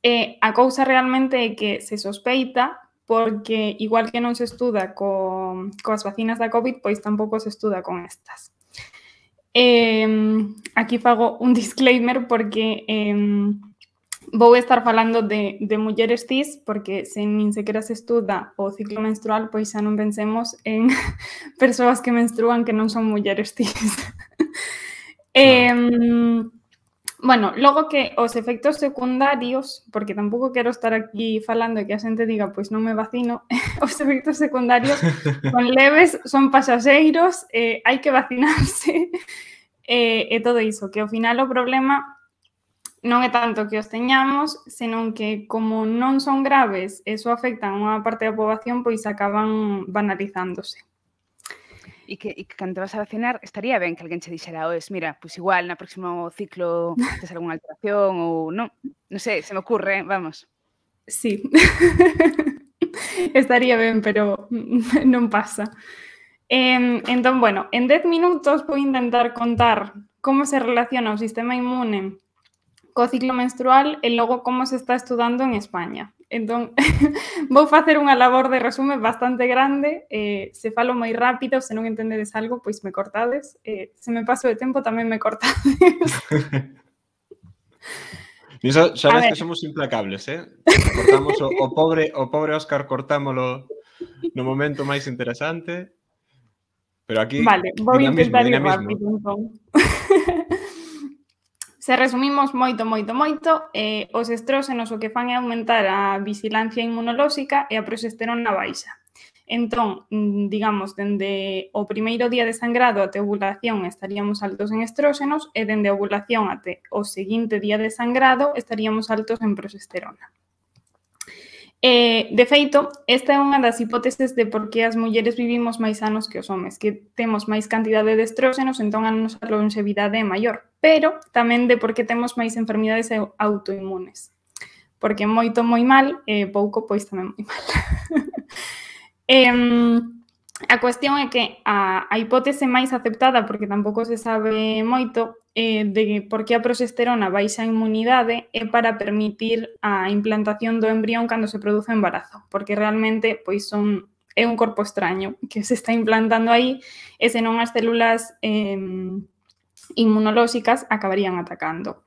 E a cousa realmente é que se sospeita porque, igual que non se estuda co, coas vacinas da COVID, pois tampouco se estuda con estas. Eh, aquí fago un disclaimer porque eh, vou estar falando de, de mulleres cis, porque se nin sequera se estuda o ciclo menstrual, pois xa non pensemos en persoas que menstruan que non son mulleres cis. eh, bueno, logo que os efectos secundarios, porque tampouco quero estar aquí falando e que a xente diga, pois non me vacino, os efectos secundarios son leves, son pasaxeiros, eh, hai que vacinarse, eh, e todo iso, que ao final o problema non é tanto que os teñamos, senón que como non son graves e só afectan unha parte da poboación, pois acaban banalizándose. E que, e que cando te vas a vacinar, estaría ben que alguén che dixera, oes, mira, pois igual na próximo ciclo tes algunha alteración ou non, non sei, se me ocurre, vamos. Sí, estaría ben, pero non pasa. Eh, entón, bueno, en dez minutos vou intentar contar como se relaciona o sistema inmune co ciclo menstrual e logo como se está estudando en España. Entón, vou facer unha labor de resume bastante grande. Eh, se falo moi rápido, se non entendedes algo, pois me cortades. Eh, se me paso de tempo, tamén me cortades. Niso xa A ves ver. que somos implacables, eh? Cortamos o, o pobre o pobre Óscar cortámolo no momento máis interesante. Pero aquí, Vale, vou dinamismo, intentar ir dinamismo. rápido, entón. Se resumimos moito, moito, moito, eh, os estróxenos o que fan é aumentar a vigilancia inmunolóxica e a progesterona baixa. Entón, digamos, dende o primeiro día de sangrado até ovulación estaríamos altos en estróxenos e dende a ovulación até o seguinte día de sangrado estaríamos altos en progesterona. Eh, de feito, esta é unha das hipóteses de por que as mulleres vivimos máis anos que os homes, que temos máis cantidade de estróxenos, entón a nosa longevidade é maior, pero tamén de por que temos máis enfermidades autoinmunes, porque moito moi mal, e eh, pouco pois tamén moi mal. eh, a cuestión é que a, a hipótese máis aceptada, porque tampouco se sabe moito, eh, de por que a progesterona baixa a inmunidade é para permitir a implantación do embrión cando se produce o embarazo, porque realmente pois son é un corpo extraño que se está implantando aí e senón as células eh, inmunolóxicas acabarían atacando.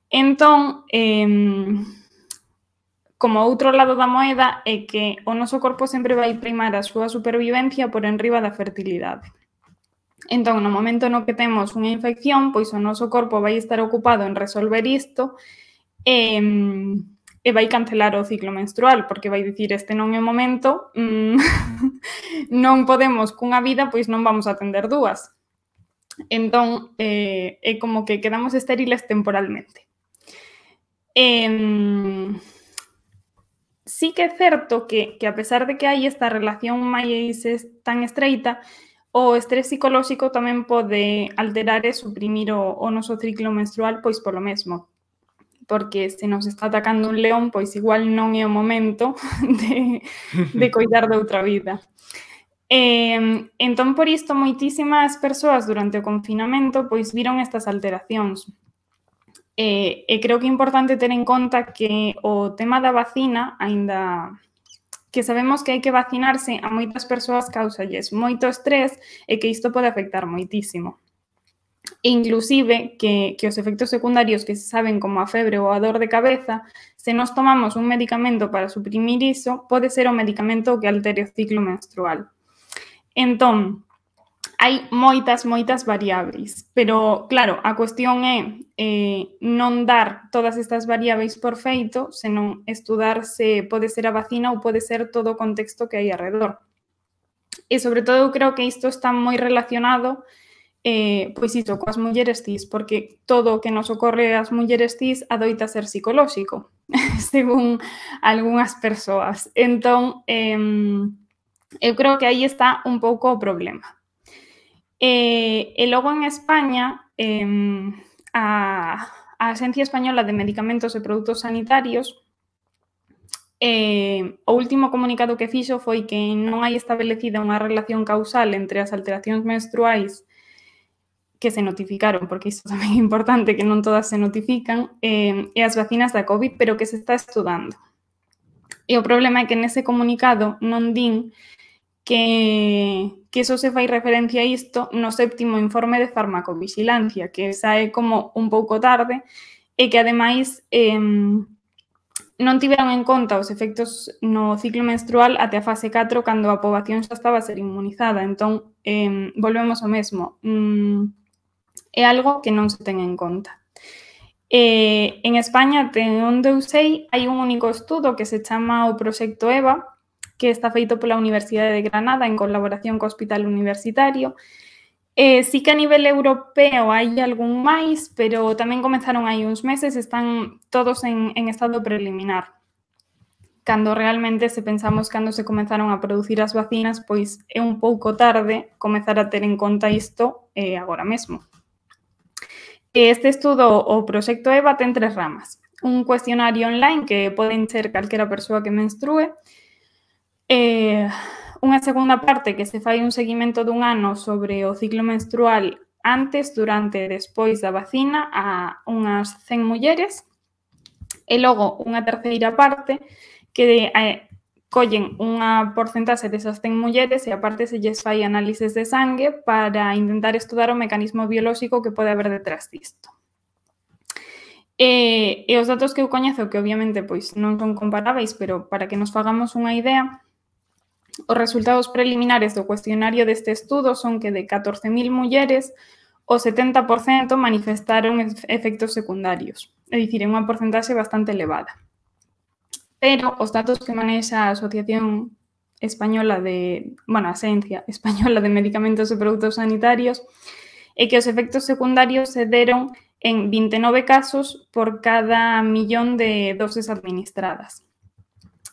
Entón, eh, como outro lado da moeda é que o noso corpo sempre vai primar a súa supervivencia por enriba da fertilidade. Entón, no momento no que temos unha infección, pois o noso corpo vai estar ocupado en resolver isto e, e vai cancelar o ciclo menstrual, porque vai dicir este non é o momento, mmm, non podemos cunha vida, pois non vamos a atender dúas. Entón, eh, é como que quedamos estériles temporalmente. Eh, sí que é certo que, que a pesar de que hai esta relación máis tan estreita, o estrés psicolóxico tamén pode alterar e suprimir o, o noso ciclo menstrual pois polo mesmo. Porque se nos está atacando un león, pois igual non é o momento de, de coidar de outra vida. Eh, entón, por isto, moitísimas persoas durante o confinamento pois viron estas alteracións. E, e creo que é importante ter en conta que o tema da vacina, aínda que sabemos que hai que vacinarse, a moitas persoas causalles moito estrés e que isto pode afectar moitísimo. E inclusive que, que os efectos secundarios que se saben como a febre ou a dor de cabeza, se nos tomamos un medicamento para suprimir iso, pode ser o medicamento que altere o ciclo menstrual. Entón, hai moitas, moitas variáveis, pero, claro, a cuestión é eh, non dar todas estas variáveis por feito, senón estudar se pode ser a vacina ou pode ser todo o contexto que hai alrededor. E, sobre todo, eu creo que isto está moi relacionado eh, pois iso, coas mulleres cis, porque todo o que nos ocorre ás mulleres cis adoita ser psicolóxico, según algunhas persoas. Entón, eh, eu creo que aí está un pouco o problema. E, e logo en España, eh, a, a Axencia Española de Medicamentos e Produtos Sanitarios, eh, o último comunicado que fixo foi que non hai establecida unha relación causal entre as alteracións menstruais que se notificaron, porque isto tamén é importante, que non todas se notifican, eh, e as vacinas da COVID, pero que se está estudando. E o problema é que nese comunicado non din que, que eso se fai referencia a isto no séptimo informe de farmacovigilancia, que sae como un pouco tarde e que, ademais, eh, non tiveron en conta os efectos no ciclo menstrual até a fase catro, cando a poboación xa estaba a ser inmunizada. Entón, eh, volvemos ao mesmo. Mm, é algo que non se ten en conta. Eh, en España, de onde eu sei, hai un único estudo que se chama o Proxecto EVA, que está feito pola Universidade de Granada en colaboración co Hospital Universitario. Eh, sí que a nivel europeo hai algún máis, pero tamén comenzaron hai uns meses, están todos en, en estado preliminar. Cando realmente, se pensamos cando se comenzaron a producir as vacinas, pois é un pouco tarde comezar a ter en conta isto eh, agora mesmo. Este estudo, o Proxecto EVA, ten tres ramas. Un cuestionario online que poden ser calquera persoa que menstrue, Eh, unha segunda parte que se fai un seguimento dun ano sobre o ciclo menstrual antes, durante e despois da vacina a unhas cen mulleres, e logo unha terceira parte que eh, collen unha porcentaxe desas cen mulleres e aparte se lles fai análises de sangue para intentar estudar o mecanismo biolóxico que pode haber detrás disto. E, e os datos que eu coñezo, que obviamente pois, non son comparáveis, pero para que nos fagamos unha idea, os resultados preliminares do cuestionario deste estudo son que de catorce mil mulleres, o setenta por cento manifestaron efectos secundarios, é dicir, é unha porcentaxe bastante elevada. Pero os datos que manexa a Asociación Española de, bueno, a Asencia Española de Medicamentos e Produtos Sanitarios é que os efectos secundarios se deron en vinte e nove casos por cada millón de doses administradas.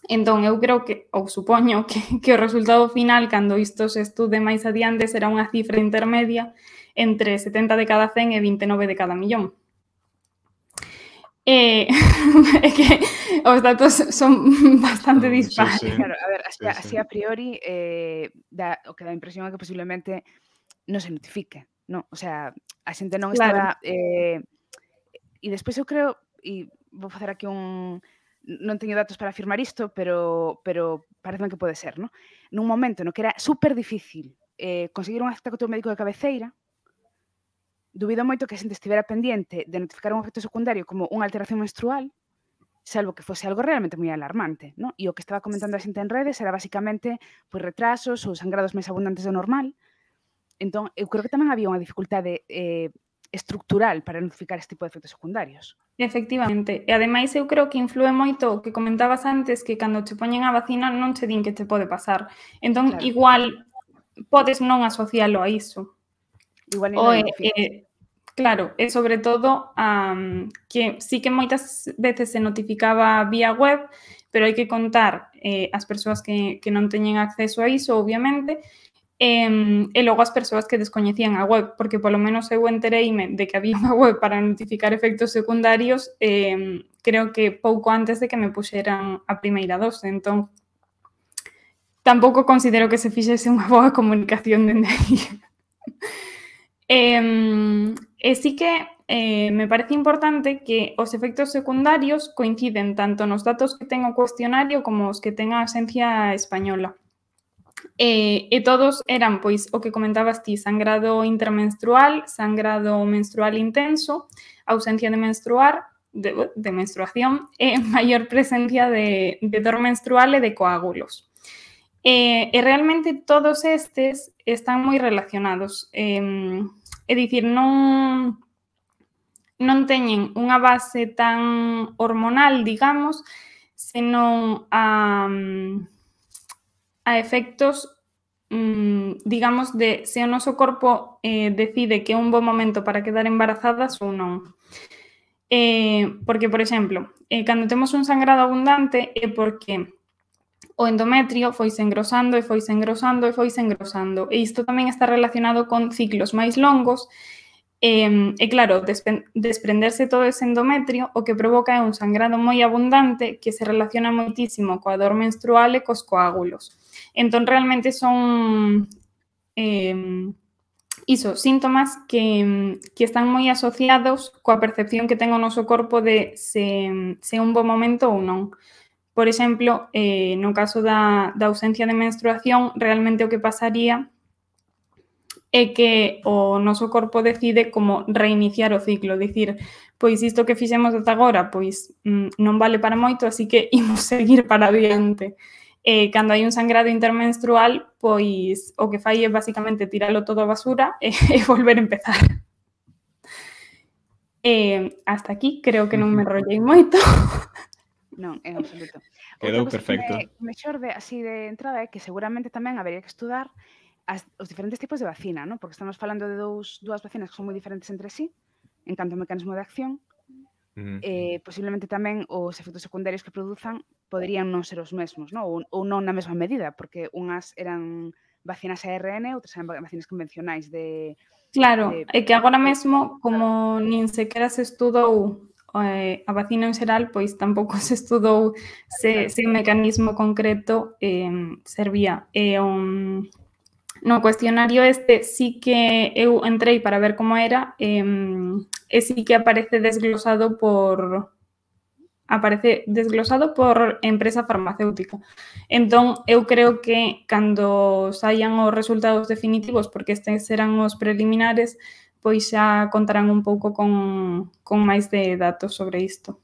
Entón, eu creo que, ou supoño, que, que o resultado final, cando isto se estude máis adiante, será unha cifra intermedia entre setenta de cada cen e vinte e nove de cada millón. É, é que os datos son bastante dispares. Sí, sí. Claro, a ver, así, Sí, sí. así a priori, eh, da, o que dá a impresión é que posiblemente non se notifique, non? O sea, a xente non Claro. estaba... Eh, e despois eu creo, e vou facer aquí un... Non teño datos para afirmar isto, pero, pero parece que pode ser, non? Nun momento no que era super difícil eh, conseguir un acta co teu médico de cabeceira, dubido moito que a xente estivera pendiente de notificar un efecto secundario como unha alteración menstrual, salvo que fose algo realmente moi alarmante, non? E o que estaba comentando a xente en redes era basicamente pois, retrasos ou sangrados máis abundantes do normal. Entón, eu creo que tamén había unha dificultade eh, estructural para notificar este tipo de efectos secundarios. Efectivamente. E ademais eu creo que influe moito o que comentabas antes, que cando che poñen a vacina non che din que te pode pasar. Entón, Claro. igual podes non asocialo a iso. Igual O, non eh, identificas. eh, claro, e sobre todo um, que sí que moitas veces se notificaba vía web, pero hai que contar eh, as persoas que, que non teñen acceso a iso, obviamente, e, e logo as persoas que descoñecían a web, porque polo menos eu entereime de que había unha web para notificar efectos secundarios, eh, creo que pouco antes de que me puxeran a primeira dose, entón tampouco considero que se fixese unha boa comunicación dende aí. Eh, e sí que eh, me parece importante que os efectos secundarios coinciden tanto nos datos que ten o cuestionario como os que ten a Asencia Española. E, e todos eran, pois, o que comentabas ti, sangrado intermenstrual, sangrado menstrual intenso, ausencia de menstruar, de, de menstruación e maior presencia de, de dor menstrual e de coágulos. E, e realmente todos estes están moi relacionados. Eh, é dicir, non, non teñen unha base tan hormonal, digamos, senón a, a efectos, digamos, de se o noso corpo eh, decide que é un bo momento para quedar embarazadas ou non. Eh, porque, por exemplo, eh, cando temos un sangrado abundante é porque o endometrio foise engrosando e foise engrosando e foise engrosando. E isto tamén está relacionado con ciclos máis longos. E, e claro, desprenderse todo ese endometrio o que provoca é un sangrado moi abundante que se relaciona moitísimo coa dor menstrual e cos coágulos. Entón, realmente son eh, iso, síntomas que, que están moi asociados coa percepción que ten o noso corpo de se, se é un bo momento ou non. Por exemplo, eh, no caso da, da ausencia de menstruación, realmente o que pasaría é que o noso corpo decide como reiniciar o ciclo, dicir, pois isto que fixemos ata agora, pois mm, non vale para moito, así que imos seguir para adiante. Eh, cando hai un sangrado intermenstrual, pois o que fai é basicamente tiralo todo a basura e, e volver a empezar. Eh, hasta aquí, creo que non me enrollei moito. Non, en absoluto. Quedou Outra cosa perfecto. que me, me xorde así de entrada é que seguramente tamén habería que estudar as, os diferentes tipos de vacina, ¿no? Porque estamos falando de dous, dúas vacinas que son moi diferentes entre sí, en canto ao mecanismo de acción. Mm. Eh, posiblemente tamén os efectos secundarios que produzan poderían non ser os mesmos, ¿no? Ou, ou non na mesma medida, porque unhas eran vacinas A R N, outras eran vacinas convencionais de... Claro, de, é que agora mesmo, como nin sequera se estudou eh, a vacina en xeral, pois tampouco se estudou se, se un mecanismo concreto eh, servía. E un, no cuestionario este sí que eu entrei para ver como era eh, e sí que aparece desglosado por, aparece desglosado por empresa farmacéutica. Entón, eu creo que cando saian os resultados definitivos, porque estes serán os preliminares, pois xa contarán un pouco con, con máis de datos sobre isto.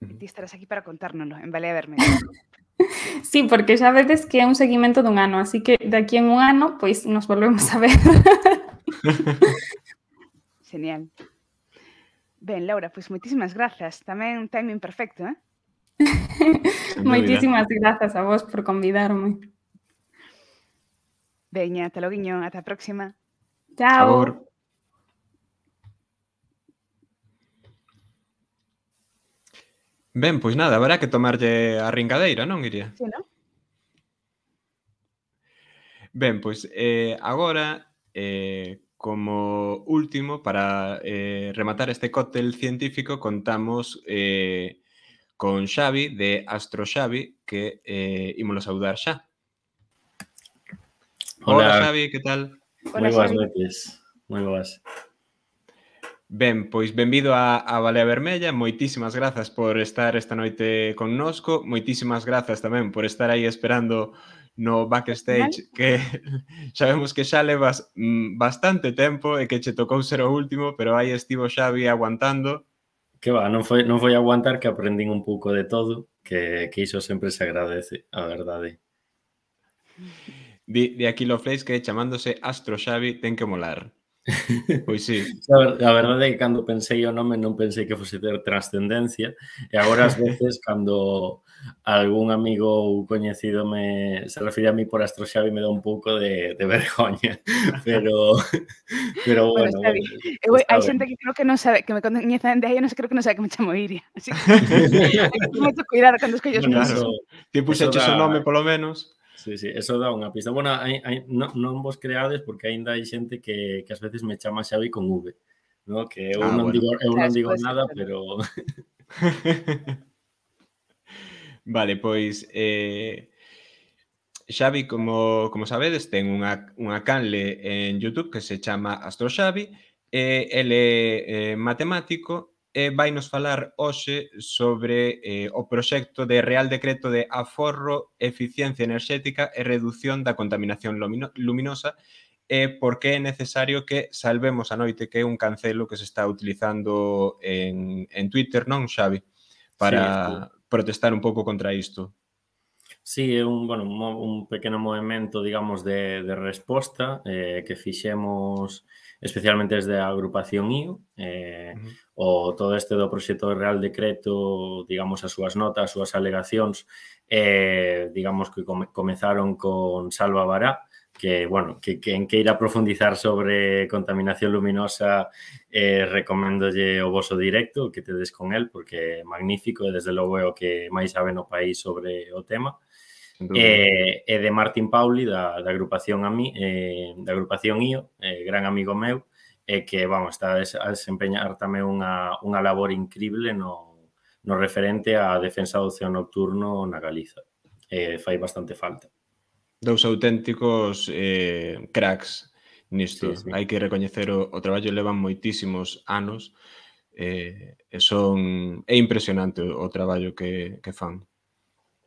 E ti estarás aquí para contárnoslo, en Balea Vermella. Sí, porque xa vedes que é un seguimento dun ano, así que de aquí en un ano, pois nos volvemos a ver. Genial. Ben, Laura, pois moitísimas grazas. Tamén un timing perfecto, eh? Moitísimas grazas a vos por convidarme. Veña, ata loguiño, ata a próxima. Chao. Agur. Ben, pois nada, haberá que tomarlle a ringadeira, non, Iria? Sí, non? Ben, pois eh, agora, eh, como último, para eh, rematar este cóctel científico, contamos eh, con Xavi, de Astro Xavi, que eh, ímolo saudar xa. Hola, Hola, Xavi, que tal? moi Hola, boas Xavi. noites. Moi boas. Ben, pois benvido a, a Balea Vermella, moitísimas grazas por estar esta noite connosco, moitísimas grazas tamén por estar aí esperando no backstage, que sabemos que xa levas mm, bastante tempo e que che tocou ser o último, pero aí estivo Xavi aguantando. Que va, non foi, non foi aguantar, que aprendín un pouco de todo, que, que iso sempre se agradece, a verdade. Di, di Aquilo Fleis que chamándose Astro Xavi ten que molar. Pois sí. A, a verdade é que cando pensei o nome non pensei que fose ter trascendencia, e agora ás veces cando algún amigo ou coñecido me se refire a mí por Astro Xavi me dá un pouco de, de vergoña, pero pero Bueno, bueno, Xavi, bueno, eu, está hai ben. xente que creo que non sabe, que me coñecen de aí, non sei, creo que non sabe que me chamo Iria. Así que hai que ter moito cuidado cando escolles Bueno, nomes. eso, Ti puxeches eso o dá- nome, polo menos. Sí, sí, eso dá unha pista. Bueno, hai, hai, non, non vos creades porque aínda hai xente que, que ás veces me chama Xavi con V, ¿no? Que eu Ah, non bueno. digo, eu Claro, non eso digo pode ser, nada, pero- pero Vale, pois eh, Xavi, como, como sabedes, ten unha, unha canle en YouTube que se chama Astro Xavi, e ele é eh, matemático e vai nos falar hoxe sobre eh, o proxecto de Real Decreto de aforro, eficiencia enerxética e reducción da contaminación lumino, luminosa e por que é necesario que salvemos a noite, que é un cancelo que se está utilizando en, en Twitter, non, Xavi? Para Sí, sí. protestar un pouco contra isto. Sí, é un, bueno, un, mo- un pequeno movimento, digamos, de, de resposta eh, que fixemos especialmente desde a agrupación I O, eh, Ujú. o todo este do proxecto de Real Decreto, digamos, as súas notas, as súas alegacións, eh, digamos que come, comezaron con Salva Bará, que, bueno, que quen queira profundizar sobre contaminación luminosa, eh, recoméndolle o voso directo, que tedes con el, porque é magnífico e desde logo é o que máis sabe no país sobre o tema. Sen dúbida. E, e de Martín Pauli, da, da agrupación a mí, eh, da agrupación I O, eh, gran amigo meu, e que, vamos, está a, des, a desempeñar tamén unha, unha labor increíble no, no referente á defensa do ocio nocturno na Galiza. Eh, fai bastante falta. Dous auténticos eh, cracks nisto. Sí, sí. Hai que recoñecer o, o traballo, levan moitísimos anos eh, e son é impresionante o, o traballo que, que fan.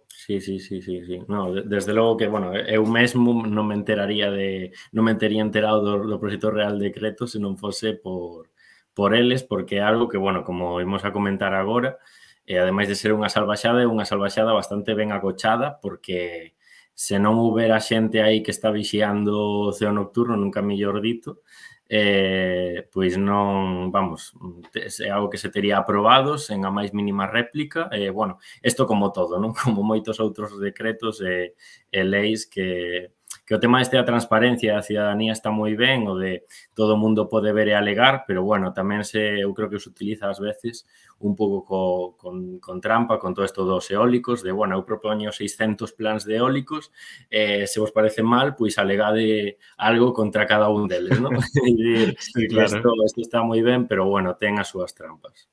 Sí, sí, sí, sí, sí. No, de- desde logo que, bueno, eu mesmo non me enteraría de, non me tería enterado do, do proxecto Real Decreto se non fose por, por eles, porque é algo que, bueno, como imos a comentar agora, e ademais de ser unha salvaxada, é unha salvaxada bastante ben acochada, porque se non houbera xente aí que está vixiando o ceo nocturno, nunca mellor dito, eh, pois non, vamos, é algo que se tería aprobado sen a máis mínima réplica, e, eh, bueno, isto como todo, non? Como moitos outros decretos e, e leis que, que o tema este da transparencia da cidadanía está moi ben, o de todo o mundo pode ver e alegar, pero, bueno, tamén se, eu creo que se utiliza ás veces un pouco co, con, con trampa, con todo isto dos eólicos, de, bueno, eu propoño seiscentos plans de eólicos, eh, se vos parece mal, pois alegade algo contra cada un deles, non? Sí, claro. Isto, isto está moi ben, pero, bueno, ten as súas trampas.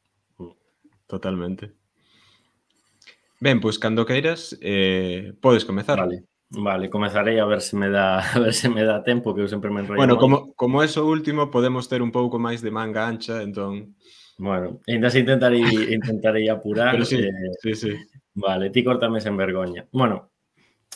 Totalmente. Ben, pois cando queiras, eh, podes comezar. Vale, vale, comezarei a ver se me dá a ver se me dá tempo, que eu sempre me enrollo Bueno, moito. como, como é o último, podemos ter un pouco máis de manga ancha, entón... Bueno, ainda se intentarei, intentarei apurar. Pero sí, eh, sí, sí. Vale, ti cortame sen vergoña. Bueno,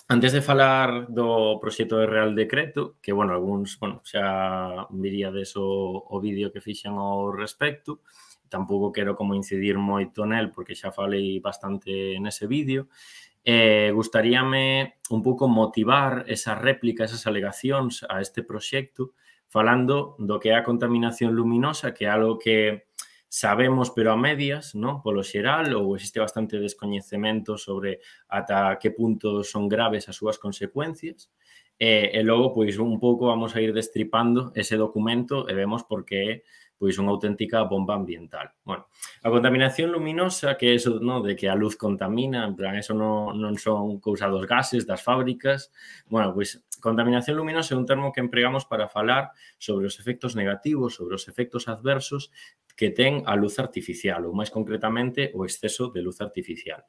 antes de falar do proxecto de Real Decreto, que, bueno, algúns, bueno, xa viríades o, o vídeo que fixen ao respecto, tampouco quero como incidir moito nel, porque xa falei bastante nese vídeo. Eh, gustaríame un pouco motivar esa réplica, esas alegacións a este proxecto, falando do que é a contaminación luminosa, que é algo que sabemos pero a medias, ¿no? Polo xeral, ou existe bastante descoñecemento sobre ata que punto son graves as súas consecuencias. E, e logo, pois, un pouco vamos a ir destripando ese documento e vemos por que é pois unha auténtica bomba ambiental. Bueno, a contaminación luminosa, que é eso, no, de que a luz contamina, en plan, eso non, non son cousa dos gases, das fábricas. Bueno, pois, contaminación luminosa é un termo que empregamos para falar sobre os efectos negativos, sobre os efectos adversos que ten a luz artificial, ou máis concretamente o exceso de luz artificial.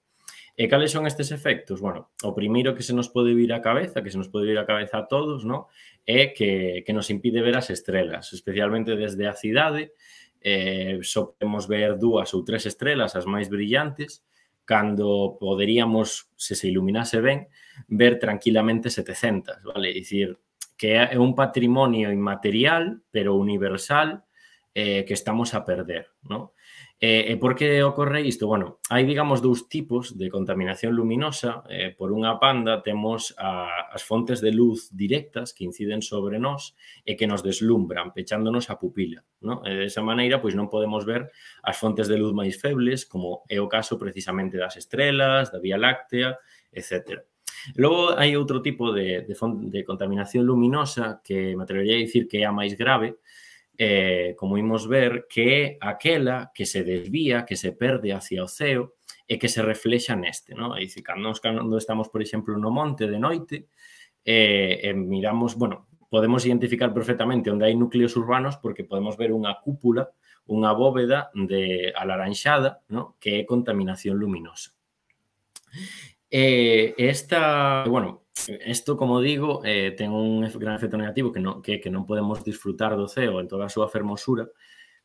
E cales son estes efectos? Bueno, o primeiro que se nos pode vir á cabeza, que se nos pode vir á cabeza a todos, ¿no? É que, que nos impide ver as estrelas, especialmente desde a cidade. Eh, só podemos ver dúas ou tres estrelas, as máis brillantes, cando poderíamos, se se iluminase ben, ver tranquilamente setecentas, vale? É dicir, que é un patrimonio inmaterial, pero universal, eh, que estamos a perder, ¿no? E, e por que ocorre isto? Bueno, hai, digamos, dous tipos de contaminación luminosa. Eh, por unha banda, temos a, as fontes de luz directas que inciden sobre nós e que nos deslumbran, pechándonos a pupila, ¿no? E desa maneira, pois non podemos ver as fontes de luz máis febles, como é o caso precisamente das estrelas, da Vía Láctea, etcétera. Logo, hai outro tipo de, de, de contaminación luminosa que me atrevería a dicir que é a máis grave, Eh, como imos ver, que é aquela que se desvía, que se perde hacia o ceo e que se reflexa neste, ¿no? É dicir, cando, cando estamos, por exemplo, no monte de noite, eh, e miramos, bueno, podemos identificar perfectamente onde hai núcleos urbanos porque podemos ver unha cúpula, unha bóveda de alaranxada, ¿no? Que é contaminación luminosa. Eh, esta, bueno, isto, como digo, eh, ten un gran efecto negativo que non, que, que non podemos disfrutar do ceo en toda a súa fermosura,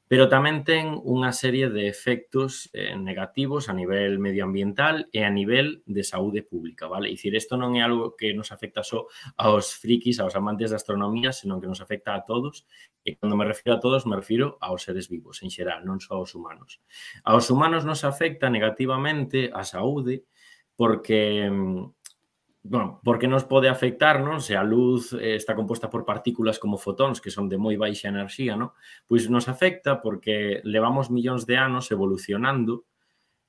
pero tamén ten unha serie de efectos eh, negativos a nivel medioambiental e a nivel de saúde pública, vale? É dicir, isto non é algo que nos afecta só aos frikis, aos amantes da astronomía, senón que nos afecta a todos, e cando me refiro a todos, me refiro aos seres vivos, en xeral, non só aos humanos. Aos humanos nos afecta negativamente a saúde, porque, bueno, porque nos pode afectar, non? Se a luz está composta por partículas como fotóns, que son de moi baixa enerxía, non? Pois nos afecta porque levamos millóns de anos evolucionando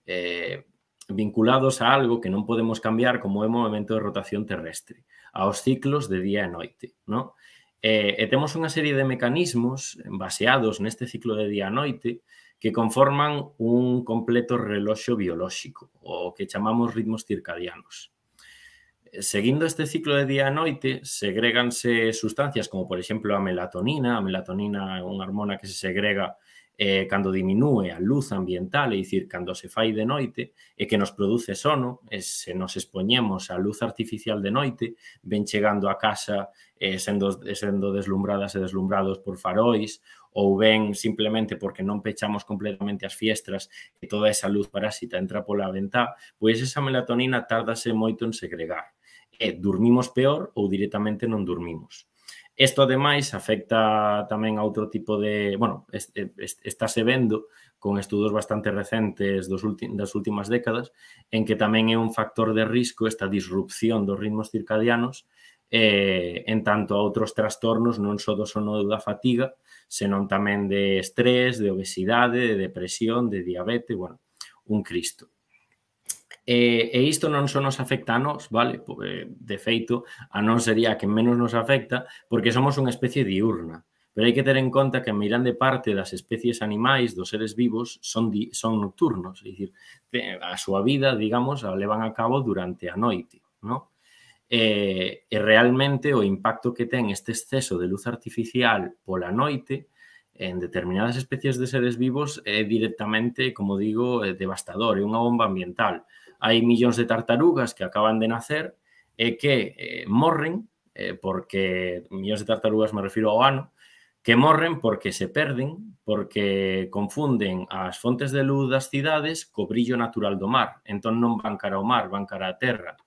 eh, vinculados a algo que non podemos cambiar como é o movimento de rotación terrestre, aos ciclos de día e noite, non? E, e temos unha serie de mecanismos baseados neste ciclo de día e noite que conforman un completo reloxo biolóxico, o que chamamos ritmos circadianos. Seguindo este ciclo de día e noite, segréganse sustancias como, por exemplo, a melatonina. A melatonina é unha hormona que se segrega eh, cando diminúe a luz ambiental, é dicir, cando se fai de noite, e que nos produce sono. E se nos expoñemos á luz artificial de noite, ven chegando a casa eh, sendo, sendo deslumbradas e deslumbrados por farois, ou ben simplemente porque non pechamos completamente as fiestras e toda esa luz parásita entra pola ventá, pois esa melatonina tárdase moito en segregar. E dormimos peor ou directamente non dormimos. Isto, ademais, afecta tamén a outro tipo de... Bueno, estáse vendo con estudos bastante recentes dos das últimas décadas en que tamén é un factor de risco esta disrupción dos ritmos circadianos eh, en tanto a outros trastornos non só do sono da fatiga, senón tamén de estrés, de obesidade, de depresión, de diabetes, bueno, un cristo. E, e isto non só nos afecta a nós, vale? De feito, a nós sería a que menos nos afecta porque somos unha especie diurna. Pero hai que ter en conta que a meirande parte das especies animais, dos seres vivos, son, di, son nocturnos. É dicir, a súa vida, digamos, a levan a cabo durante a noite, non? E, e realmente o impacto que ten este exceso de luz artificial pola noite en determinadas especies de seres vivos é directamente, como digo, devastador, é unha bomba ambiental. Hai millóns de tartarugas que acaban de nacer e que eh, morren, eh, porque millóns de tartarugas me refiro ao ano, que morren porque se perden, porque confunden as fontes de luz das cidades co brillo natural do mar. Entón non van cara ao mar, van cara á terra.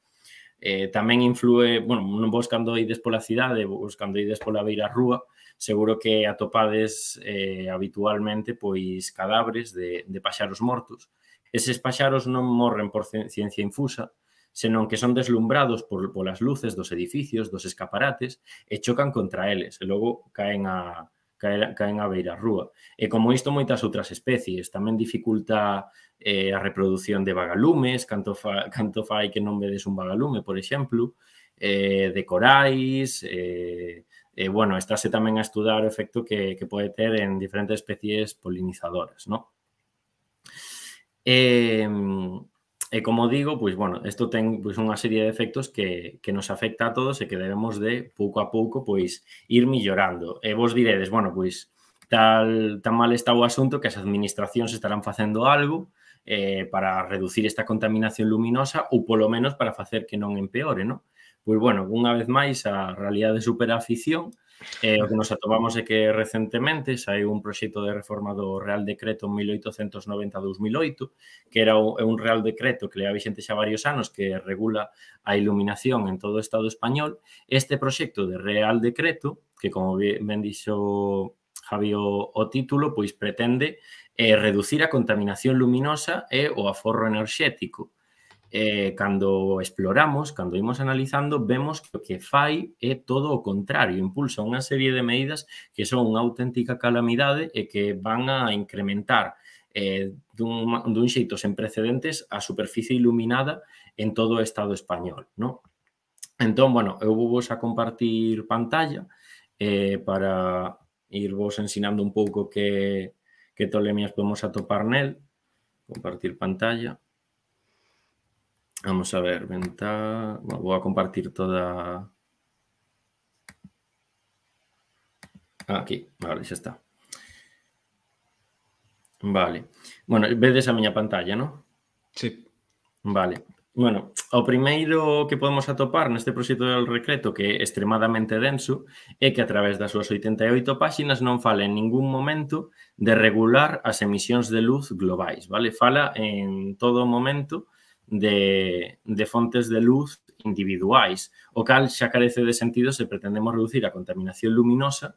Eh, tamén influe, bueno, vos cando ides pola cidade, vos cando ides pola beira rúa, seguro que atopades eh, habitualmente pois cadáveres de, de paxaros mortos. Eses paxaros non morren por ciencia infusa, senón que son deslumbrados por, polas luces dos edificios, dos escaparates, e chocan contra eles, e logo caen a, caen, caen a beira rúa. E como isto, moitas outras especies. Tamén dificulta eh, a reproducción de vagalumes, canto, fa, canto fai que non vedes un vagalume, por exemplo, eh, de corais, eh, e, bueno, estáse tamén a estudar o efecto que, que pode ter en diferentes especies polinizadoras, ¿no? E... Eh, E como digo, pois, bueno, isto ten pois, unha serie de efectos que, que nos afecta a todos e que debemos de, pouco a pouco, pois, ir millorando. E vos diredes, bueno, pois, tal, tan mal está o asunto que as administracións estarán facendo algo eh, para reducir esta contaminación luminosa ou, polo menos, para facer que non empeore, non? Pois, bueno, unha vez máis, a realidade supera a ficción. Eh, o que nos atopamos é que recentemente saiu un proxecto de reforma do Real Decreto mil oitocentos noventa barra dos mil oito, que era un Real Decreto que leva vixente xa varios anos que regula a iluminación en todo o Estado español. Este proxecto de Real Decreto, que como ben dixo Javi o, o título, pois pretende eh, reducir a contaminación luminosa e o aforro enerxético. Eh, cando exploramos, cando imos analizando, vemos que o que fai é todo o contrario, impulsa unha serie de medidas que son unha auténtica calamidade e que van a incrementar eh, dun, dun xeito sen precedentes a superficie iluminada en todo o Estado español, ¿no? Entón, bueno, eu vou vos a compartir pantalla eh, para irvos ensinando un pouco que, que tolemias podemos atopar nel. Compartir pantalla. Vamos a ver, venta... Bueno, vou a compartir toda... Ah, aquí, vale, xa está. Vale. Bueno, vedes a miña pantalla, non? Sí. Vale. Bueno, o primeiro que podemos atopar neste proxecto del decreto, que é extremadamente denso, é que a través das súas oitenta e oito páxinas non fala en ningún momento de regular as emisións de luz globais, vale? Fala en todo momento de, de fontes de luz individuais, o cal xa carece de sentido se pretendemos reducir a contaminación luminosa,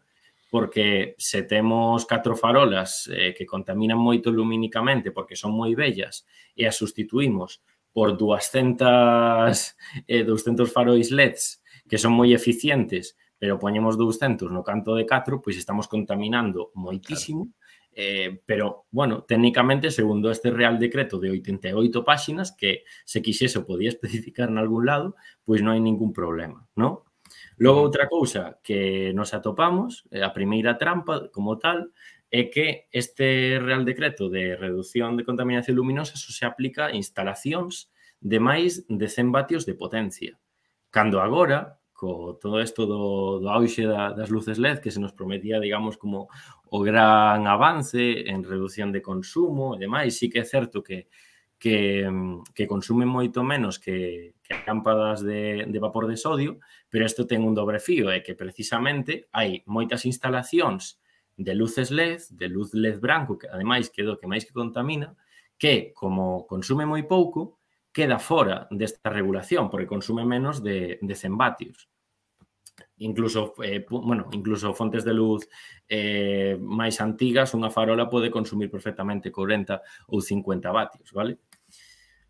porque se temos catro farolas eh, que contaminan moito lumínicamente porque son moi bellas e as sustituímos por doscientos, eh, doscientos faróis L E Ds que son moi eficientes, pero poñemos doscientos no canto de catro, pois estamos contaminando moitísimo. Claro. Eh, pero, bueno, técnicamente, segundo este Real Decreto de oitenta e oito páxinas, que se quixese o podía especificar en algún lado, pois non hai ningún problema, non? Logo, outra cousa que nos atopamos, a primeira trampa como tal, é que este Real Decreto de reducción de contaminación luminosa só se aplica a instalacións de máis de cen vatios de potencia. Cando agora, co todo isto do, do auxe da, das luces L E D, que se nos prometía, digamos, como o gran avance en reducción de consumo e demais, sí que é certo que, que, que consumen moito menos que, que lámpadas de, de vapor de sodio, pero isto ten un dobre fío, é que precisamente hai moitas instalacións de luces L E D, de luz L E D branco, que ademais que é do que máis que contamina, que, como consume moi pouco, queda fora desta regulación, porque consume menos de, de cen vatios. Incluso, eh, bueno, incluso fontes de luz eh, máis antigas, unha farola pode consumir perfectamente corenta ou cincuenta vatios, vale?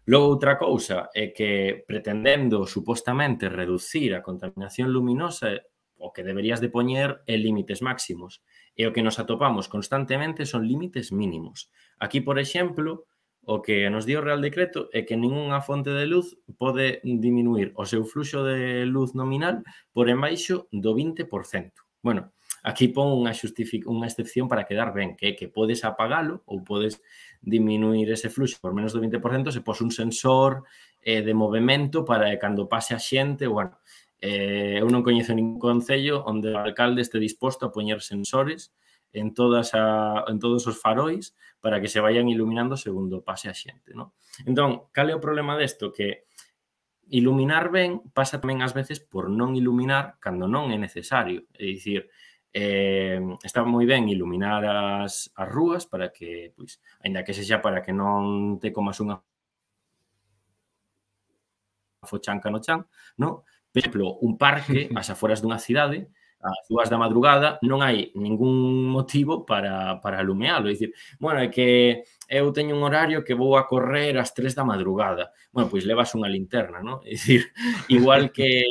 Logo, outra cousa é que pretendendo supostamente reducir a contaminación luminosa, o que deberías de poñer é límites máximos. E o que nos atopamos constantemente son límites mínimos. Aquí, por exemplo, o que nos dio o Real Decreto é que ningunha fonte de luz pode diminuir o seu fluxo de luz nominal por embaixo do vinte por cento. Bueno, aquí pon unha, unha excepción para quedar ben, que é que podes apagalo ou podes diminuir ese fluxo por menos do vinte por cento se pos un sensor eh, de movimento para que cando pase a xente, bueno, eh, eu non coñezo ningún concello onde o alcalde este disposto a poñer sensores en, todas a, en todos os farois para que se vayan iluminando segundo pase a xente, non? Entón, cal é o problema desto? Que iluminar ben pasa tamén ás veces por non iluminar cando non é necesario. É dicir, eh, está moi ben iluminar as, as rúas para que, pois, aínda que sexa para que non te comas unha fochanca no chan, no? Por exemplo, un parque, as aforas dunha cidade, ás dúas da madrugada, non hai ningún motivo para, para alumealo. É dicir, bueno, é que eu teño un horario que vou a correr ás tres da madrugada. Bueno, pois levas unha linterna, non? É dicir, igual que...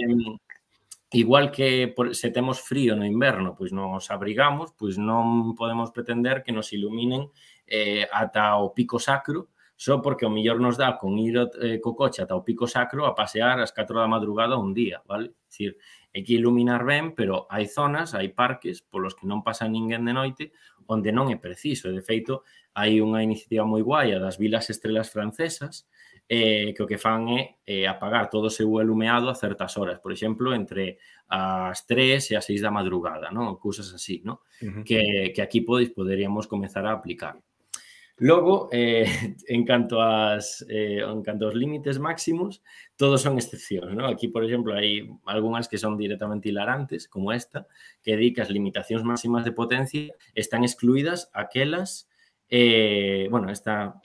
Igual que por, se temos frío no inverno, pois nos abrigamos, pois non podemos pretender que nos iluminen eh, ata o pico sacro, só porque o mellor nos dá con ir eh, co coche ata o pico sacro a pasear ás catro da madrugada un día, vale? É dicir, hai que iluminar ben, pero hai zonas, hai parques polos que non pasa ninguén de noite onde non é preciso. De feito, hai unha iniciativa moi guai das vilas estrelas francesas eh, que o que fan é eh, apagar todo o seu alumeado a certas horas. Por exemplo, entre as tres e as seis da madrugada, non? Cousas así, non? Uh-huh. que, que aquí podes, poderíamos comezar a aplicar. Logo, eh, en canto ás, eh, en canto aos límites máximos, todos son excepcións, non? Aquí, por exemplo, hai algunhas que son directamente hilarantes, como esta, que di que as limitacións máximas de potencia están excluídas aquelas, eh, bueno, esta,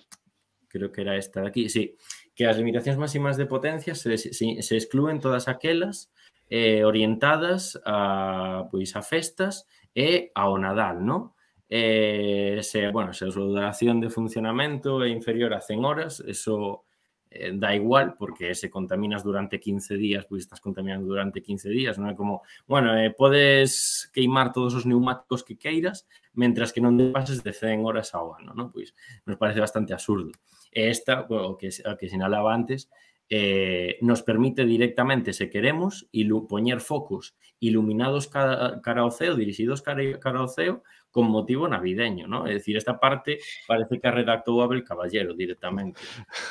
creo que era esta de aquí, sí, que as limitacións máximas de potencia se, se, se exclúen todas aquelas eh, orientadas a, pois, a festas e ao Nadal, non? Eh, se, bueno, se a súa duración de funcionamento é inferior a cen horas, eso eh, da igual, porque se contaminas durante quince días, pois estás contaminando durante quince días, non é como, bueno, eh, podes queimar todos os neumáticos que queiras, mentras que non te pases de cen horas ao ano, non? Pois nos parece bastante absurdo. E esta, o que, o que sinalaba antes, eh, nos permite directamente, se queremos, ilu poñer focos iluminados cara, cara ao ceo, dirixidos cara, cara ao ceo, con motivo navideño, ¿no? É dicir, esta parte parece que a redactou Abel Caballero directamente,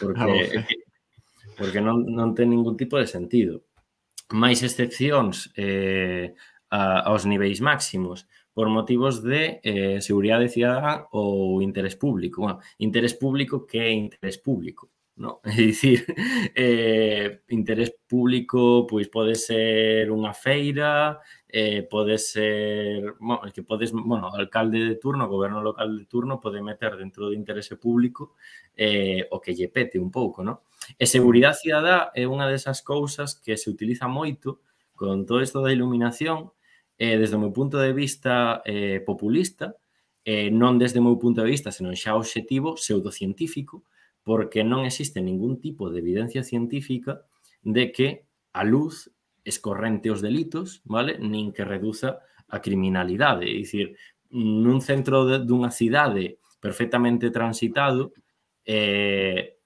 porque, porque non, non ten ningún tipo de sentido. Máis excepcións eh, a, aos niveis máximos por motivos de eh, seguridade cidadá ou interés público. Bueno, interés público, que é interés público? No, é dicir, eh, interés público pois pode ser unha feira, eh, pode ser, bueno, que podes, bueno, o alcalde de turno, o goberno local de turno pode meter dentro do interese público eh, o que lle pete un pouco, no? E seguridade cidadá é unha desas cousas que se utiliza moito con todo isto da iluminación, eh, desde o meu punto de vista eh, populista, eh, non desde o meu punto de vista, senón xa obxectivo, pseudocientífico, porque non existe ningún tipo de evidencia científica de que a luz escorrente os delitos, vale? Nin que reduza a criminalidade. É dicir, nun centro de, dunha cidade perfectamente transitado, eh,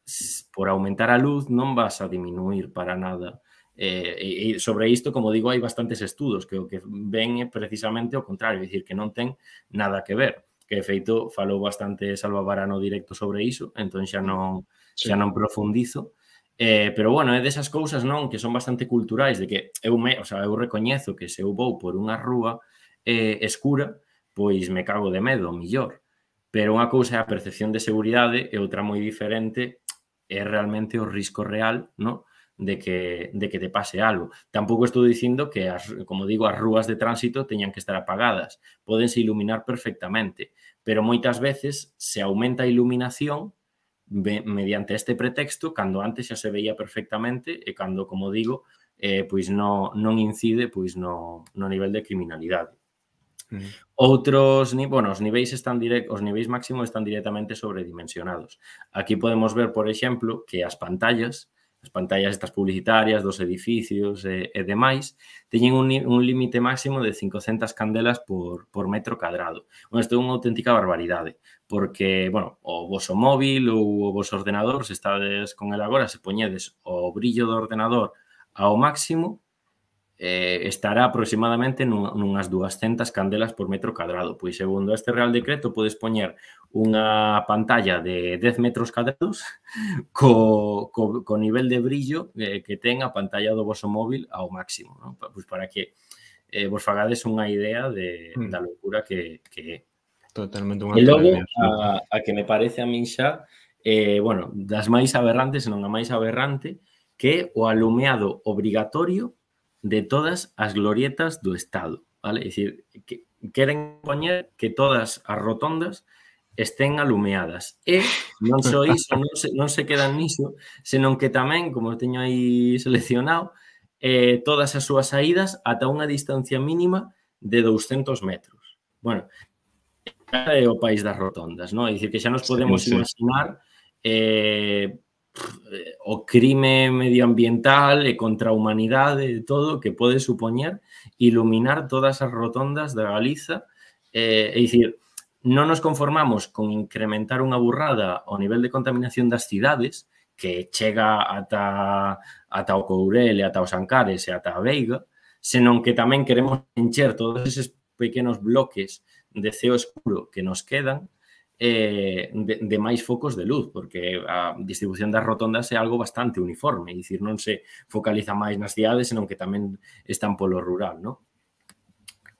por aumentar a luz non vas a diminuir para nada. Eh, e sobre isto, como digo, hai bastantes estudos que o que ven é precisamente o contrario, é dicir, que non ten nada que ver. Que, de feito, falou bastante Salva Varano directo sobre iso, entón xa non, xa non profundizo. Eh, pero, bueno, é desas cousas, non, que son bastante culturais, de que eu, me, o sea, eu recoñezo que se eu vou por unha rúa eh, escura, pois me cago de medo, millor. Pero unha cousa é a percepción de seguridade e outra moi diferente é realmente o risco real, non? De que, de que te pase algo. Tampouco estou dicindo que, as, como digo, as rúas de tránsito teñan que estar apagadas. Pódense iluminar perfectamente, pero moitas veces se aumenta a iluminación mediante este pretexto cando antes xa se veía perfectamente e cando, como digo, eh, pois no, non incide pois no, no nivel de criminalidade. Mm. Outros, bueno, os niveis están direct, os niveis máximos están directamente sobredimensionados. Aquí podemos ver, por exemplo, que as pantallas as pantallas estas publicitarias dos edificios e, e demais, teñen un, un límite máximo de cincocentas candelas por, por metro cadrado. Bueno, isto é unha auténtica barbaridade, porque, bueno, o voso móvil ou o voso ordenador, se estades con el agora, se poñedes o brillo do ordenador ao máximo, eh, estará aproximadamente nunhas duascentas candelas por metro cadrado. Pois, segundo este Real Decreto, podes poñer unha pantalla de dez metros cadrados co, co, co nivel de brillo eh, que ten a pantalla do voso móvil ao máximo, non? Pois para que eh, vos fagades unha idea de, mm. da locura que, que é. Totalmente unha E logo, a, a que me parece a min xa, eh, bueno, das máis aberrantes, senón a máis aberrante, que é o alumeado obrigatorio de todas as glorietas do Estado, vale? É dicir, que queren poñer que todas as rotondas estén alumeadas. E non só iso, non se, non se quedan niso, senón que tamén, como teño aí seleccionado, eh, todas as súas saídas ata unha distancia mínima de douscentos metros. Bueno, é o país das rotondas, non? É dicir, que xa nos podemos sí, sí. imaginar eh, o crime medioambiental e contra a humanidade e todo que pode supoñer iluminar todas as rotondas da Galiza. Eh, é dicir, non nos conformamos con incrementar unha burrada ao nivel de contaminación das cidades que chega ata, ata o Courel e ata os Ancares e ata a Veiga, senón que tamén queremos encher todos eses pequenos bloques de ceo escuro que nos quedan eh, de, de máis focos de luz, porque a distribución das rotondas é algo bastante uniforme, é dicir, non se focaliza máis nas cidades, senón que tamén están polo rural, non?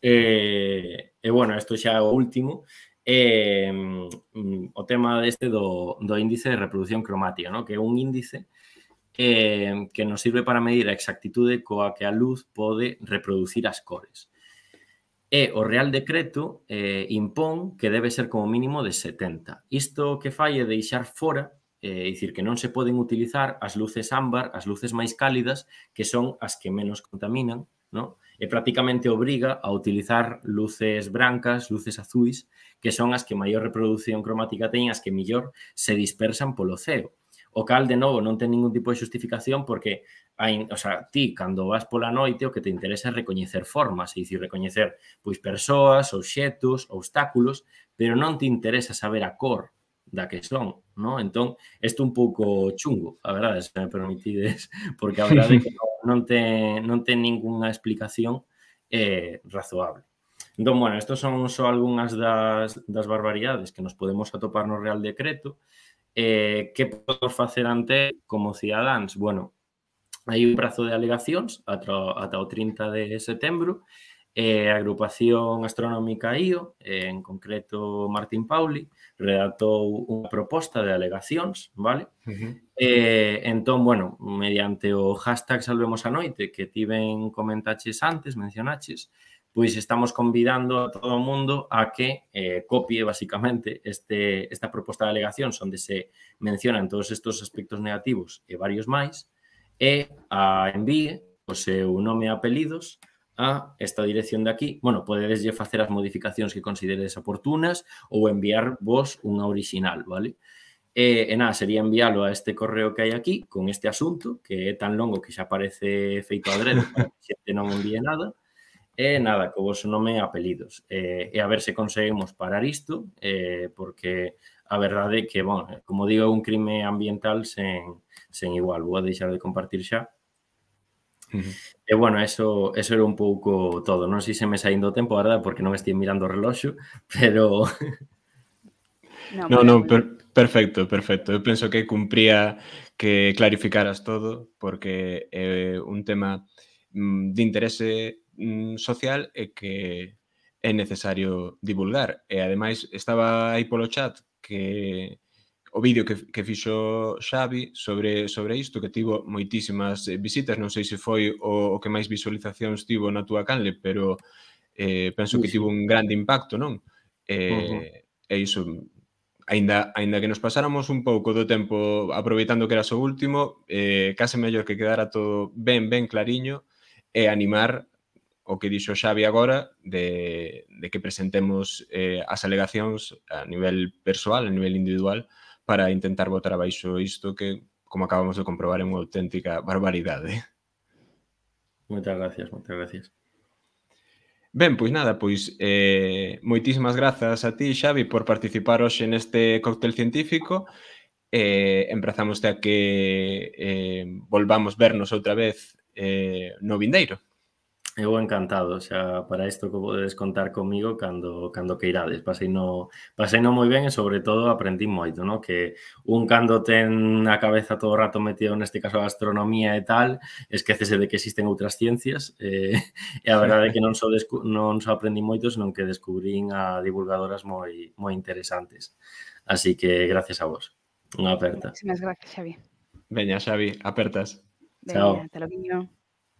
E, e bueno, isto xa é o último, eh, o tema deste do, do índice de reproducción cromática, ¿no? Que é un índice eh, que nos sirve para medir a exactitude coa que a luz pode reproducir as cores. E o Real Decreto eh, impón que debe ser como mínimo de setenta. Isto que fai é deixar fora, é eh, dicir, que non se poden utilizar as luces ámbar, as luces máis cálidas, que son as que menos contaminan, ¿no? E prácticamente obriga a utilizar luces brancas, luces azuis, que son as que maior reproducción cromática teñen, as que mellor se dispersan polo ceo. O cal, de novo, non ten ningún tipo de xustificación porque, hai, o sea, ti, cando vas pola noite, o que te interesa é recoñecer formas, é dicir, recoñecer pois persoas, obxetos, obstáculos, pero non te interesa saber a cor da que son, ¿no? Entón, isto un pouco chungo, a verdade, se me permitides, porque a verdade é que non ten, non ten ningunha explicación eh, razoable. Entón, bueno, estos son só algunhas das, das barbaridades que nos podemos atopar no Real Decreto. Eh, que podemos facer ante como cidadáns? Bueno, hai un prazo de alegacións ata, ata o trinta de setembro. Eh, a agrupación astronómica I O, eh, en concreto Martín Pauli, redactou unha proposta de alegacións, vale? Uh-huh. Eh, entón, bueno, mediante o hashtag Salvemos a Noite, que ti ben comentaches antes, mencionaches, pois estamos convidando a todo o mundo a que eh, copie, basicamente, este, esta proposta de alegacións onde se mencionan todos estes aspectos negativos e varios máis, e a envíe o seu nome e apelidos a esta dirección de aquí. Bueno, podedeslle facer as modificacións que consideredes oportunas ou enviar vos unha original, vale? E, e nada, sería enviálo a este correo que hai aquí con este asunto, que é tan longo que xa parece feito adrede para que xente non envíe nada. E nada, co vosso nome e apelidos. E, e a ver se conseguimos parar isto, eh, porque a verdade é que, bueno, como digo, é un crime ambiental sen, sen igual. Vou a deixar de compartir xa. Uh-huh. E, bueno, eso, eso era un pouco todo. Non sei se me saindo o tempo, a verdade, porque non estive mirando o reloxo, pero... No, no, no per, perfecto, perfecto. Eu penso que cumpría que clarificaras todo, porque é un tema mm, de interese social e que é necesario divulgar. E, ademais, estaba aí polo chat que o vídeo que, que fixo Xavi sobre, sobre isto, que tivo moitísimas visitas, non sei se foi o, o que máis visualizacións tivo na túa canle, pero eh, penso que tivo un grande impacto, non? Eh, uh-huh. E iso, aínda, aínda que nos pasáramos un pouco do tempo aproveitando que eras o último, eh, case mellor que quedara todo ben, ben clariño e animar o que dixo Xavi agora de, de que presentemos eh, as alegacións a nivel persoal, a nivel individual, para intentar botar abaixo isto que, como acabamos de comprobar, é unha auténtica barbaridade. Moitas gracias, moitas gracias. Ben, pois nada, pois eh, moitísimas grazas a ti, Xavi, por participar hoxe neste cóctel científico. Eh, emprazamos a que eh, volvamos vernos outra vez eh, no vindeiro. Eu encantado, xa, para isto que podedes contar comigo cando, cando que irades. Pasei no, pasei no moi ben e, sobre todo, aprendí moito, no? Que un cando ten a cabeza todo o rato metido, neste caso, a astronomía e tal, esquecese de que existen outras ciencias, eh, e a verdade é que non só, descu- non só aprendí moito, senón que descubrín a divulgadoras moi, moi interesantes. Así que, gracias a vos. Unha aperta. Muchísimas gracias, Xavi. Veña, Xavi, apertas. Veña, hasta logo.